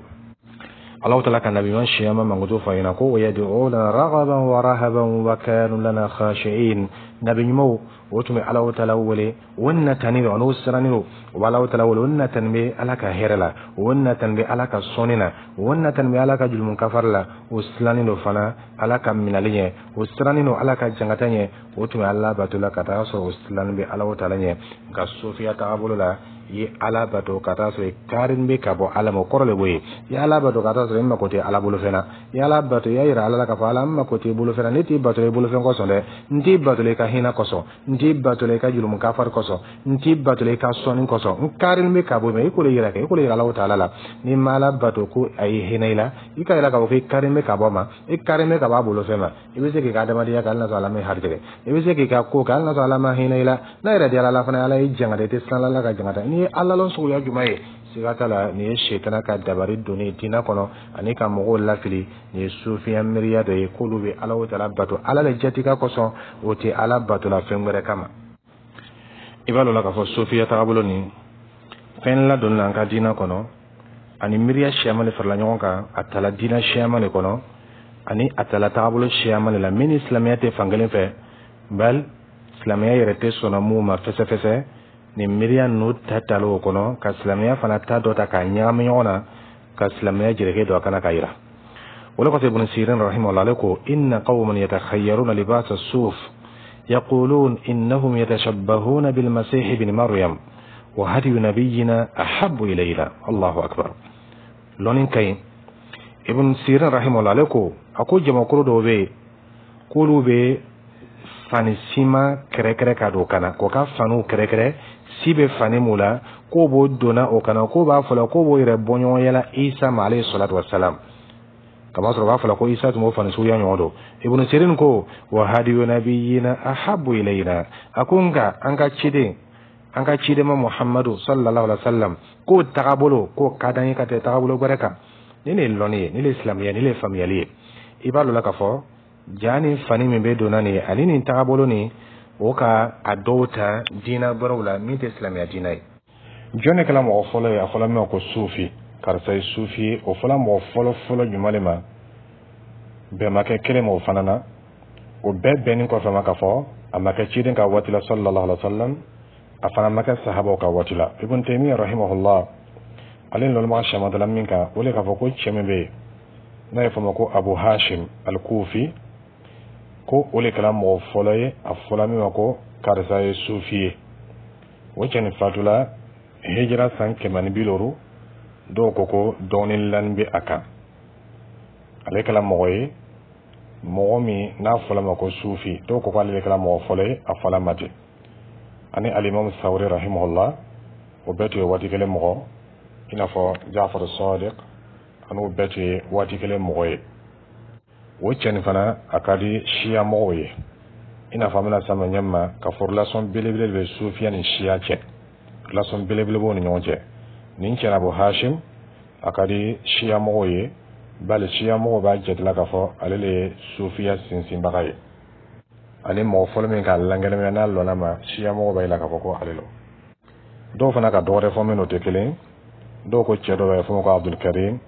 Alahu taala ka nabi ɲuman siyama mankutu fɔ ɲɛna ko: ويدعوننا رغبا ورهبا وكانوا لنا خاشعين. Nabi ɲumanw, o tun bɛ Alahu taala wele, o natani don, n'o sirannen don, o bɛ Alahu taala wele, o natani bɛ Ala ka hɛrɛ la, o natani bɛ Ala ka sɔnni na, o natani bɛ Ala ka jurumu kafari la, o silannen don fana Ala ka minɛli ɲɛ, o sirannen don Ala ka jangata ɲɛ. O tun bɛ Ala bato la ka taa sɔrɔ o silannen bɛ Alahu taala ɲɛ. Nka sofiya tagabolo la, i ye Ala bato ka taa sɔrɔ i karin bɛ ka bɔ Ala ma, o kɔrɔ de b'o ye. I ye Ala bato ka taa sɔrɔ i mako tɛ Ala bolofɛn na. I ye Ala bato, i y'a yira Ala la k'a fɔ: Ala, n mako tɛ i bolofɛn na. Ne t'i bato i bolofɛn kosɔn dɛ, n t'i bato i ka hinɛ kosɔn, n t'i bato i ka jurumu kafari kosɔn, n t'i bato i ka sɔnni kosɔn, n karin bɛ ka bɔ i ma. I k'o de yira kɛ, i k'o de yira Alahu taala la. N'i ma Ala bato ko a ye hinɛ i la, i ka yira k'a fɔ k'i karin bɛ ka bɔ ma, i karin bɛ ka bɔ a bolofɛn ma. I bɛ se k'i ka adamadenya kɛ hali n'a sɔrɔ Ala ma harijɛgɛ. I bɛ se k'i ka ko kɛ hali n'a sɔrɔ Ala ma hinɛ i la. N'a yɛrɛ diyara Ala fana, Ala y'i jangata, i tɛ siran Ala ka jangata. N'i ye Ala lɔn suguya jumɛn ye? Siga t'a la, nin ye setana ka dabari donni diinɛ kɔnɔ ani ka mɔgɔw lafili. Nin ye sufiya miiriya dɔ ye k'olu bɛ Ala taala bato Ala le jatika kosɔn, o tɛ Ala batola fɛn wɛrɛ kama. I b'a dɔn la k'a fɔ sofiya tagabolo nin fɛn ladonni la an ka diinɛ kɔnɔ, ani miiriya siyaman de farala ɲɔgɔn kan. A tala diinɛ siyaman de kɔnɔ, ani a tala tagabolo siyaman de la min ni silamɛya tɛ fankelen fɛ, bali silamɛya yɛrɛ tɛ sɔnna mun ma fɛsɛfɛsɛ. Nin miiriya ninnu ta tala o kɔnɔ ka silamɛya fana ta dɔ ta k'a ɲagami ɲɔgɔn na, ka silamɛya jɛrɛkɛ don a kana ka yira. O le kɔfɛ, Ibn Sirin رحمه الله ale ko: إن قوما يتخيرون لباس الصوف يقولون إنهم يتشبهون بالمسيح ابن مريم وهدي نبينا أحب إلينا. الله أكبر. Lɔnni ka ɲi. Ibn Sirin رحمه الله ale ko, a ko jamakulu dɔw bɛ yen k'olu bɛ fani sima kɛrɛkɛrɛ ka don kana k'o ka faniw kɛrɛkɛrɛ, si bɛ fani mun la, k'o b'o donna o kana, k'o b'a fɔ la k'o b'o yɛrɛ bɔ ɲɔgɔn yala Isa ma عليه الصلاة والسلام. Kamasɔrɔ u b'a fɔ la ko Isa tun b'o fani suguya ɲɔgɔn don. Ibn Sirin ko: وهدي نبينا أحب إلينا. A ko nka an ka ciden An ka cidenma Muhammadu sallallahu alaihi wa sallam k'o tagabolo k'o ka d'an ye ka tɛmɛ tagabolo wɛrɛ kan. Ni ne ye lɔnni ye, ni le ye silamɛya, ni le ye faamuyali ye, i b'a dɔn la k'a fɔ ja ni fani min bɛ donna nin ye ani nin tagabolo nin, o ka a dɔw ta diinɛ wɛrɛw la min tɛ silamɛya diinɛ ye. Jɔn de kɛra mɔgɔ fɔlɔ ye a fɔla min ma ko sufi, karisa ye sufi ye? O fɔla mɔgɔ fɔlɔ fɔlɔ jumɛn de ma? Bɛn ma kɛ kelen ma o fana na. O bɛɛ bɛnni kɔfɛ ma k'a fɔ a ma kɛ ciden ka waati la sallallahu alaihi wa sallam, a fana ma kɛ sahabaw ka waati la. Ibn Taymiyyah rahimahullah, ale ni lɔnnibaga caman dala min kan, o le k'a fɔ ko cɛ min bɛ yen n'a ye fɔ ma ko Abu Hashim al-Kufi, ko o le kɛra mɔgɔ fɔlɔ ye a fɔla min ma ko karisa ye sufi ye. O cɛ nin fatula hijira san 150. Dɔw ko ko dɔɔnin lani bɛ a kan. Ale kɛra mɔgɔ ye, mɔgɔ min n'a fɔla ma ko sufi. Dɔw ko k'ale de kɛra mɔgɔ fɔlɔ ye a fɔla ma ten. Ani alimami Sawuri rahimahullah, o bɛɛ tun ye waati kelen mɔgɔ, i n'a fɔ Jafar Sadiq, ani o bɛɛ tun ye waati kelen mɔgɔ ye. O cɛ nin fana, a ka di siya mɔgɔw ye, i n'a fɔ an bɛna sama ɲɛ ma ka fɔ relation belebele de bɛ sufiya ni siya cɛ, relation belebele b'o ni ɲɔgɔn cɛ. Nin cɛ Abu Hashim, a ka di siya mɔgɔw ye, bali siya mɔgɔw b'a jatela k'a fɔ ale le ye sufiya sinsinbaga ye, ani mɔgɔ fɔlɔ min k'a lankɛnɛmaya n'a lɔnna ma. Siya mɔgɔw b'a yira k'a fɔ ko ale lo. Dɔw fana ka dɔwɛrɛ fɔ min o tɛ kelen. Dɔw ko cɛ dɔ bɛ fɔ ko Abdul Karim,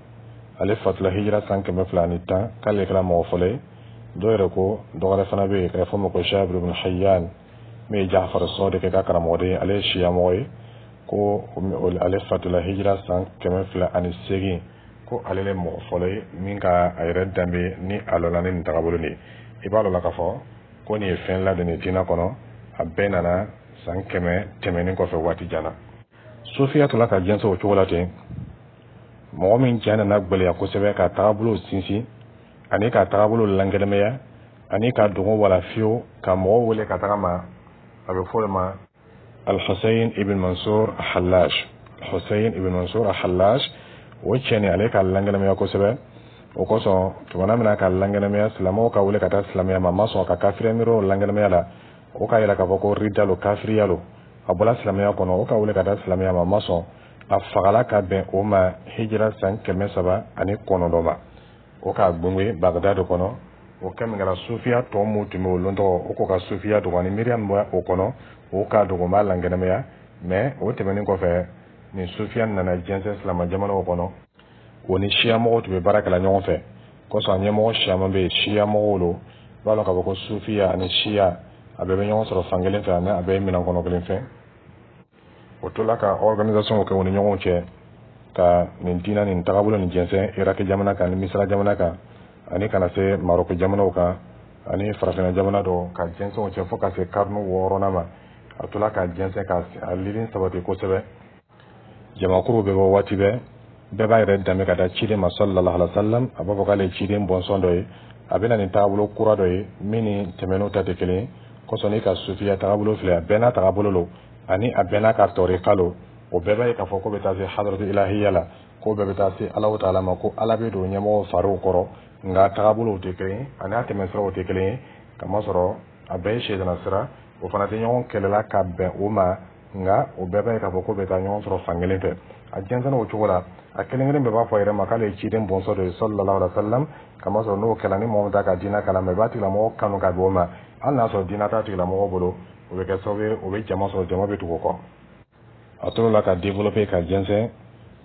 ale fatula hijira san 210, k'ale kɛra mɔgɔ fɔlɔ ye. Dɔw yɛrɛ ko dɔwɛrɛ fana bɛ yen k'a fɔ ma ko Jabir ibn Hayyan, min ye Jafar Sadiq ka karamɔgɔden ye, ale ye siya mɔgɔ ye, ko ale fatula hijira san 208, ko ale le mɔgɔ fɔlɔ ye min ka a yɛrɛ danbe ni a lɔnna ni nin tagabolo nin ye. I b'a dɔn la k'a fɔ ko nin ye fɛn ladonni diinɛ kɔnɔ, a bɛɛ nana san 100 tɛmɛnen kɔfɛ, waati jan na. Sofiya tola ka jɛnsɛn o cogo la ten. Mɔgɔ min ja nana gwɛlɛya kosɛbɛ ka tagabolo sinsin ani ka tagabolo lankɛnɛmaya ani ka dogo wala fiyewu ka mɔgɔw wele ka taga ma, a bɛ fɔ o ma Al-Hussein ibn Mansur Hallaj. Hussein ibn Mansur Hallaj, o cɛ nin, ale ka lankɛnɛmaya kosɛbɛ. O kosɔn, tumana min na ka lankɛnɛmaya, silamɛw ka wele ka taa silamɛya ma, a ma sɔn ka kafiriya miiriw lankɛnɛmaya la. O k'a yira k'a fɔ ko rida lo, kafiriya lo, a bɔla silamɛya kɔnɔ. O ka wele ka taa silamɛya ma, a ma sɔn. A fagala ka bɛn o ma hijira san 309 ma. O k'a gbɛngbɛn Bagdad kɔnɔ. O kɛ min kɛra, sufiya tɔ mun tun bɛ o lon tɔgɔ, o k'o ka sufiya dogo ani miiriya min bɛ o kɔnɔ, o k'a dogo, n b'a lankɛnɛmaya. Mɛ o tɛmɛnen kɔfɛ, nin sufiya nana jɛnsɛn silama jamanaw kɔnɔ. O ni siya mɔgɔw tun bɛ baara kɛla ɲɔgɔn fɛ. Kosɔn a ɲɛmɔgɔ siyaman bɛ yen, siya mɔgɔw lo. I b'a dɔn k'a fɔ ko sufiya ani siya, a bɛɛ bɛ ɲɔgɔn sɔrɔ fan kelen fɛ, ani a bɛɛ ye minɛn kɔnɔ kelen fɛn. O tola ka organisation kɛ u ni ɲɔgɔn cɛ ka nin diinɛ nin tagabolo nin jɛnsɛn Iraki jamana kan ni Misira jamana kan, ani kana se Maroko jamanaw kan ani farafinna jamana dɔw, ka jɛnsɛn o cɛ fo ka se karinu wɔɔrɔnan ma. A tola ka jɛnsɛn ka a lili sabati kosɛbɛ. Jamakuru bɛ bɔ waati bɛɛ, bɛɛ b'a yɛrɛ danbe ka taa ciden ma sallallahu alaihi wa sallam. A b'a fɔ k'ale ye ciden bɔnsɔn dɔ ye, a bɛ na nin tagabolo kura dɔ ye min ni tɛmɛn'o ta tɛ kelen ye. Kosɔn n'i ka sufiya tagabolo filɛ, a bɛɛ n'a tagabolo lo ani a bɛɛ n'a ka tɔrika lo. O bɛɛ b'a ye k'a fɔ ko bɛ taa se hadratu ilahiya la, ko bɛɛ bɛ taa se Alahu taala ma, ko Ala bɛ don ɲɛmɔgɔw fariw kɔrɔ. Nka tagabolow tɛ kelen ye ani a tɛmɛsiraw tɛ kelen ye, kamasɔrɔ a bɛɛ ye sɛdana sira. O fana tɛ ɲɔgɔn kɛlɛla ka bɛn o ma, nka o bɛɛ b'a ye k'a fɔ ko bɛ taa ɲɔgɔn sɔrɔ fan kelen fɛ. A jɛnsɛnna o cogo la. A kelen kelen bɛɛ b'a fɔ a yɛrɛ ma k'ale ye ciden bɔnsɔn dɔ ye sallallahu alaihi wa sallam. Kamasɔrɔ n'o kɛla, ni mɔgɔ min t'a ka diinɛ kalama, i b'a tigilamɔgɔ kanu ka bɛn o ma, hali n'a sɔrɔ diinɛ t'a tigilamɔgɔ bolo. O bɛ kɛ sababu ye, o bɛ jama sɔrɔ, jama bɛ tugu o kɔ. A tor'o la ka développer ka jɛnsɛn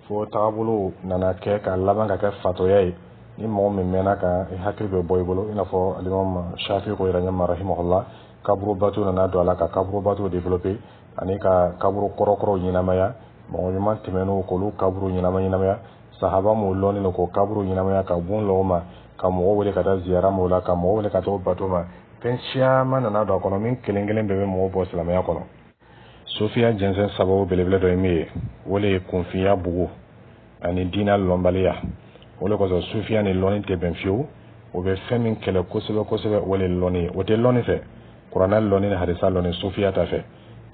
fo tagabolo nana kɛ ka laban ka kɛ fatɔya ye. Ni mɔgɔ min mɛnna kan, i hakili bɛ bɔ i bolo, i n'a fɔ alimami Shafi ko yɛrɛ ɲɛma rahimahullah. Kaburu bato nana don a la ka kaburu bato développer ani ka kaburu kɔrɔkɔrɔw ɲɛnamaya, mɔgɔ ɲuman tɛmɛn'o k'olu kaburu ɲɛnama ɲɛnamaya, sahaba m'o lɔnnen don k'o kaburu ɲɛnamaya, ka bon lɔ o ma, ka mɔgɔw wele ka taa ziyara m'o la, ka mɔgɔw wele ka taa o bato ma. Fɛn caman nana don a kɔnɔ min kelen kelen bɛɛ bɛ mɔgɔw bɔ silamɛya kɔnɔ. Sofiya jɛnsɛn sababu belebele dɔ ye min ye, o le ye kunfinya bugu ani diinɛ lɔnbaliya. O le kosɔn sufiya ni lɔnni tɛ bɛn fiyewu. O bɛ fɛn min kɛlɛ kosɛbɛ kosɛbɛ, o le ye lɔnni ye. O tɛ lɔnni fɛ, kuranɛ lɔnni ni hadisa lɔnni, sufiya ta fɛ.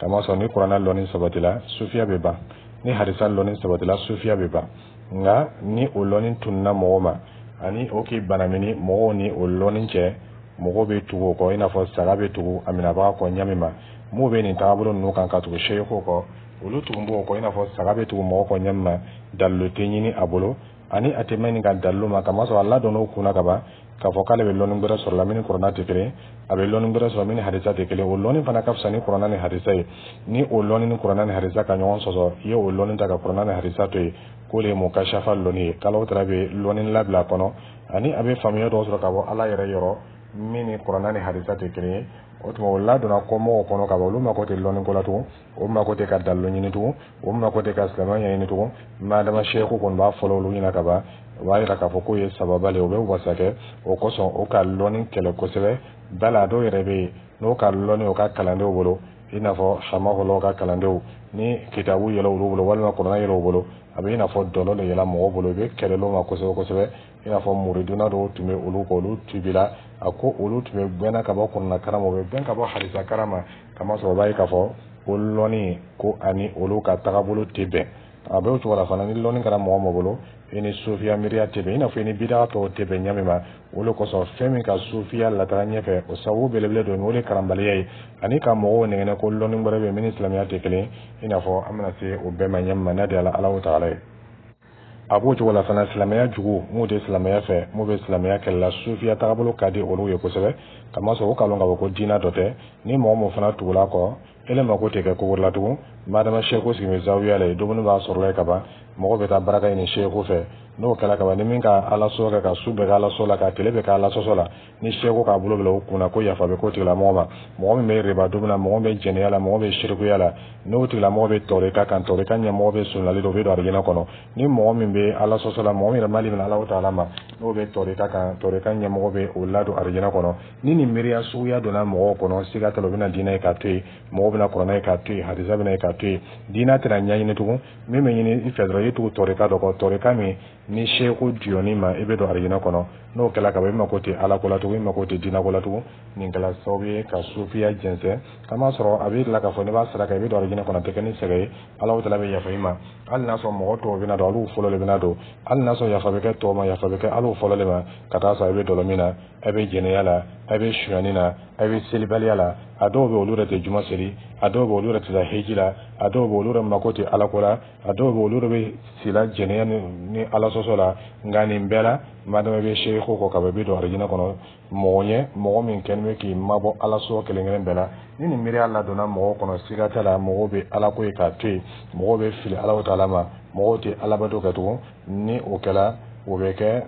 Kamasɔrɔ ni kuranɛ lɔnni sabatila, sufiya bɛ ban. Ni hadisa lɔnni sabatila, sufiya bɛ ban. Nka ni o lɔnni tununa mɔgɔ ma ani o k'i banamini mɔgɔw ni o lɔnni cɛ, mɔgɔw bɛ tugu o kɔ i n'a fɔ saga bɛ tugu a minɛbaga kɔ ɲami ma. M'o bɛ nin tagabolo ninnu kan ka tugu seyiku kɔ, olu tugun b'o kɔ i n'a fɔ saga bɛ tugu mɔgɔ kɔ ɲɛ min ma. Dalilu tɛ ɲini a bolo, ani a tɛ mɛn nin ka dalilu ma, kamasɔrɔ a ladɔnn'o kunna ka ban k'a fɔ k'ale bɛ lɔnni gbɛrɛ sɔrɔ la min ni kuranna tɛ kelen, a bɛ lɔnni gbɛrɛ sɔrɔ min ni hadisa tɛ kelen. O lɔnni fana ka fisa ni kuranna ni hadisa ye. Ni o lɔnni ni kuranna ni hadisa ka ɲɔgɔn sɔsɔ, i ye o lɔnni ta ka kuranna ni hadisa to yen, k'o de ye mukashafa lɔnni ye, k'Alahu taala bɛ lɔnni labila a kɔnɔ, ani a bɛ faamuya dɔw sɔrɔ ka bɔ Ala yɛrɛ yɔrɔ min ni kuranna ni hadisa tɛ kelen ye. O tuma, o ladonna kɔmɔgɔw kɔnɔ ka ban, olu mako tɛ lɔnni ko la tugun, o mako tɛ ka dalilu ɲini tugun, o mako tɛ ka silamɛya ɲɛɲini tugun. Madama seyiku kɔni b'a fɔlɔ olu ɲɛna ka ban, o b'a yira k'a fɔ k'o ye sababa le ye, o bɛ wasa kɛ. O kosɔn, o ka lɔnni kɛlɛ kosɛbɛ. Bala a dɔw yɛrɛ bɛ yen, n'o ka lɔnni o ka kalandenw bolo, i n'a fɔ hamahulaw ka kalandenw, ni kitabu yɛlɛ olu bolo walima kuranɛ yɛlɛ u bolo, a bɛ i n'a fɔ dɔlɔ de yɛlɛ mɔgɔw bolo, i bɛ kɛlɛ ma kosɛbɛ kosɛbɛ. I n'a fɔ muriduna dɔw tun bɛ olu kɔ, olu tubila. A ko olu tun bɛ gbɛnna ka bɔ kuranɛ kalan ma, u bɛ gbɛn ka bɔ hadisa kalan ma, kamasɔrɔ o b'a ye k'a fɔ ko lɔnni ko ani olu ka tagabolo tɛ bɛn. A bɛ o cogo la fana, ni lɔnni kɛra mɔgɔ mɔgɔ bolo, i ni sufiya miiriya tɛ bɛn, i n'a fɔ i ni bida tɔw tɛ bɛn ɲɛ min ma. O de kosɔn, fɛn min ka sufiya lataga ɲɛfɛ, o sababu belebele dɔ o de karanbaliya ye, ani ka mɔgɔw nɛgɛnɛ ko lɔnni wɛrɛ bɛ min ni silamɛya tɛ kelen, i n'a fɔ an bɛna se o bɛɛ ma ɲɛ min ma, n'a di Ala taala ye. A b'o cogo la fana, silamɛya jugu m'u tɛ silamɛya fɛ, m'u bɛ silamɛya kɛlɛ la, sufiya tagabolo ka di olu ye kosɛbɛ, kamasɔrɔ o k'a lɔn k'a fɔ ko diinɛ dɔ tɛ. Ni mɔgɔ min fana tugula kɔ, ele mako tɛ kɛ ko wɛrɛ la tugun. Madama seku sigi bɛ zawiya la yen, dumuni b'a sɔrɔ la yen ka ban, mɔgɔ bɛ taa baraka ɲini seku fɛ. N'o kɛra ka ban, ni min ka Ala sɔsɔ kɛ, ka su bɛɛ kɛ Ala sɔsɔ la, ka tile bɛɛ kɛ Ala sɔsɔ la, ni seku k'a bolo bila o kunna ko yafa bɛ k'o tigilamɔgɔ ma. Mɔgɔ min bɛ riba dumuni na, mɔgɔ min bɛ jɛnɛya la, mɔgɔ min bɛ sirikuya la, n'o tigilamɔgɔ bɛ tɔrika kan, tɔrika ɲɛmɔgɔ bɛ sunnali don, o bɛ don arijinɛ kɔnɔ. Ni mɔgɔ min bɛ Ala sɔsɔ la, mɔgɔ min yɛrɛ mali minɛ Ala taala ma, n'o bɛ tɔrika kan, tɔrika ɲɛmɔgɔ bɛ o ladon arijinɛ kɔnɔ. Ni nin miiriya suguya donna mɔgɔw kɔnɔ, siga t'a la, u bɛna diinɛ ye k'a to yen, mɔgɔw bɛna kuranɛ ye k'a to yen, hadisa bɛna ye k'a to yen, diinɛ tɛna ɲɛɲini tugun. Min bɛ ɲini i fɛ dɔrɔn, i tugu tɔrika dɔ kɔ, tɔrika min ni seku diyɔni ma, i bɛ don arijinɛ kɔnɔ. N'o kɛla ka ban, i mako tɛ Ala ko la tugun, i mako tɛ diinɛ ko la tugun. Nin kɛla sababu ye ka sufiya jɛnsɛn, kamasɔrɔ a bɛ la k'a fɔ n'i b'a saraka, i bɛ don arijinɛ kɔnɔ, a tɛ kɛ ni sɛgɛn ye, Ala taala bɛ yafa i ma. Hali n'a sɔrɔ mɔgɔ tɔw bɛna don, olu fɔlɔ de bɛna don. Hali n'a sɔrɔ yafa bɛ kɛ tɔw ma, yafa bɛ kɛ olu fɔlɔ de ma. Ka taa sɔrɔ i bɛ dɔlɔ min na, a bɛ jɛnɛya la, a bɛ sonyani na, a bɛ selibaliya la. A dɔw bɛ, olu yɛrɛ tɛ juma seli, a dɔw bɛ, olu yɛrɛ tɛ taa heji la, a dɔw bɛ, olu yɛrɛ mako tɛ Ala ko la, a dɔw bɛ, olu yɛrɛ bɛ sila jɛnɛya ni Ala sɔsɔ la. Nka nin bɛɛ la, madama i bɛ seku kɔ ka ban, i bɛ don arijinɛ kɔnɔ. Mɔgɔ ɲɛ mɔgɔ min kɛlen bɛ k'i mabɔ Ala sɔsɔ kelen kelen bɛɛ la, ni nin miiriya ladonna mɔgɔw kɔnɔ, siga t'a la, mɔgɔw bɛ Ala ko ye k'a to yen, mɔgɔw bɛ fili Ala taala ma, mɔgɔw tɛ alabato kɛ tugun. Ni o kɛla, o bɛ kɛ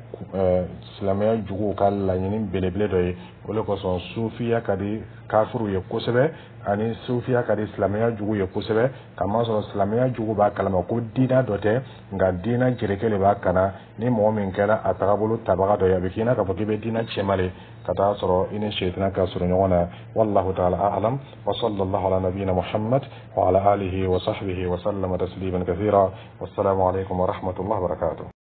silamɛya juguw ka laɲini belebele dɔ ye. O de kosɔn, sufiya ka di kafiriw ye kosɛbɛ, ani sufiya ka di silamɛya jugu ye kosɛbɛ, kamasɔrɔ silamɛya jugu b'a kalama ko diinɛ dɔ tɛ, nka diinɛ jereke de b'a kana. Ni mɔgɔ min kɛra a tagabolo tabaga dɔ ye, a bɛ k'i n'a k'a fɔ k'i bɛ diinɛ cɛma de, ka taa sɔrɔ i ni sɛtana ka surun ɲɔgɔn na. Wallahu ta'ala a'lam, wa sallallahu ala nabiyyina Muhammad wa ala alihi wa sahbihi wa sallama tasliman kathira. Wassalamu alaikum wa rahmatullahi wa barakatuh.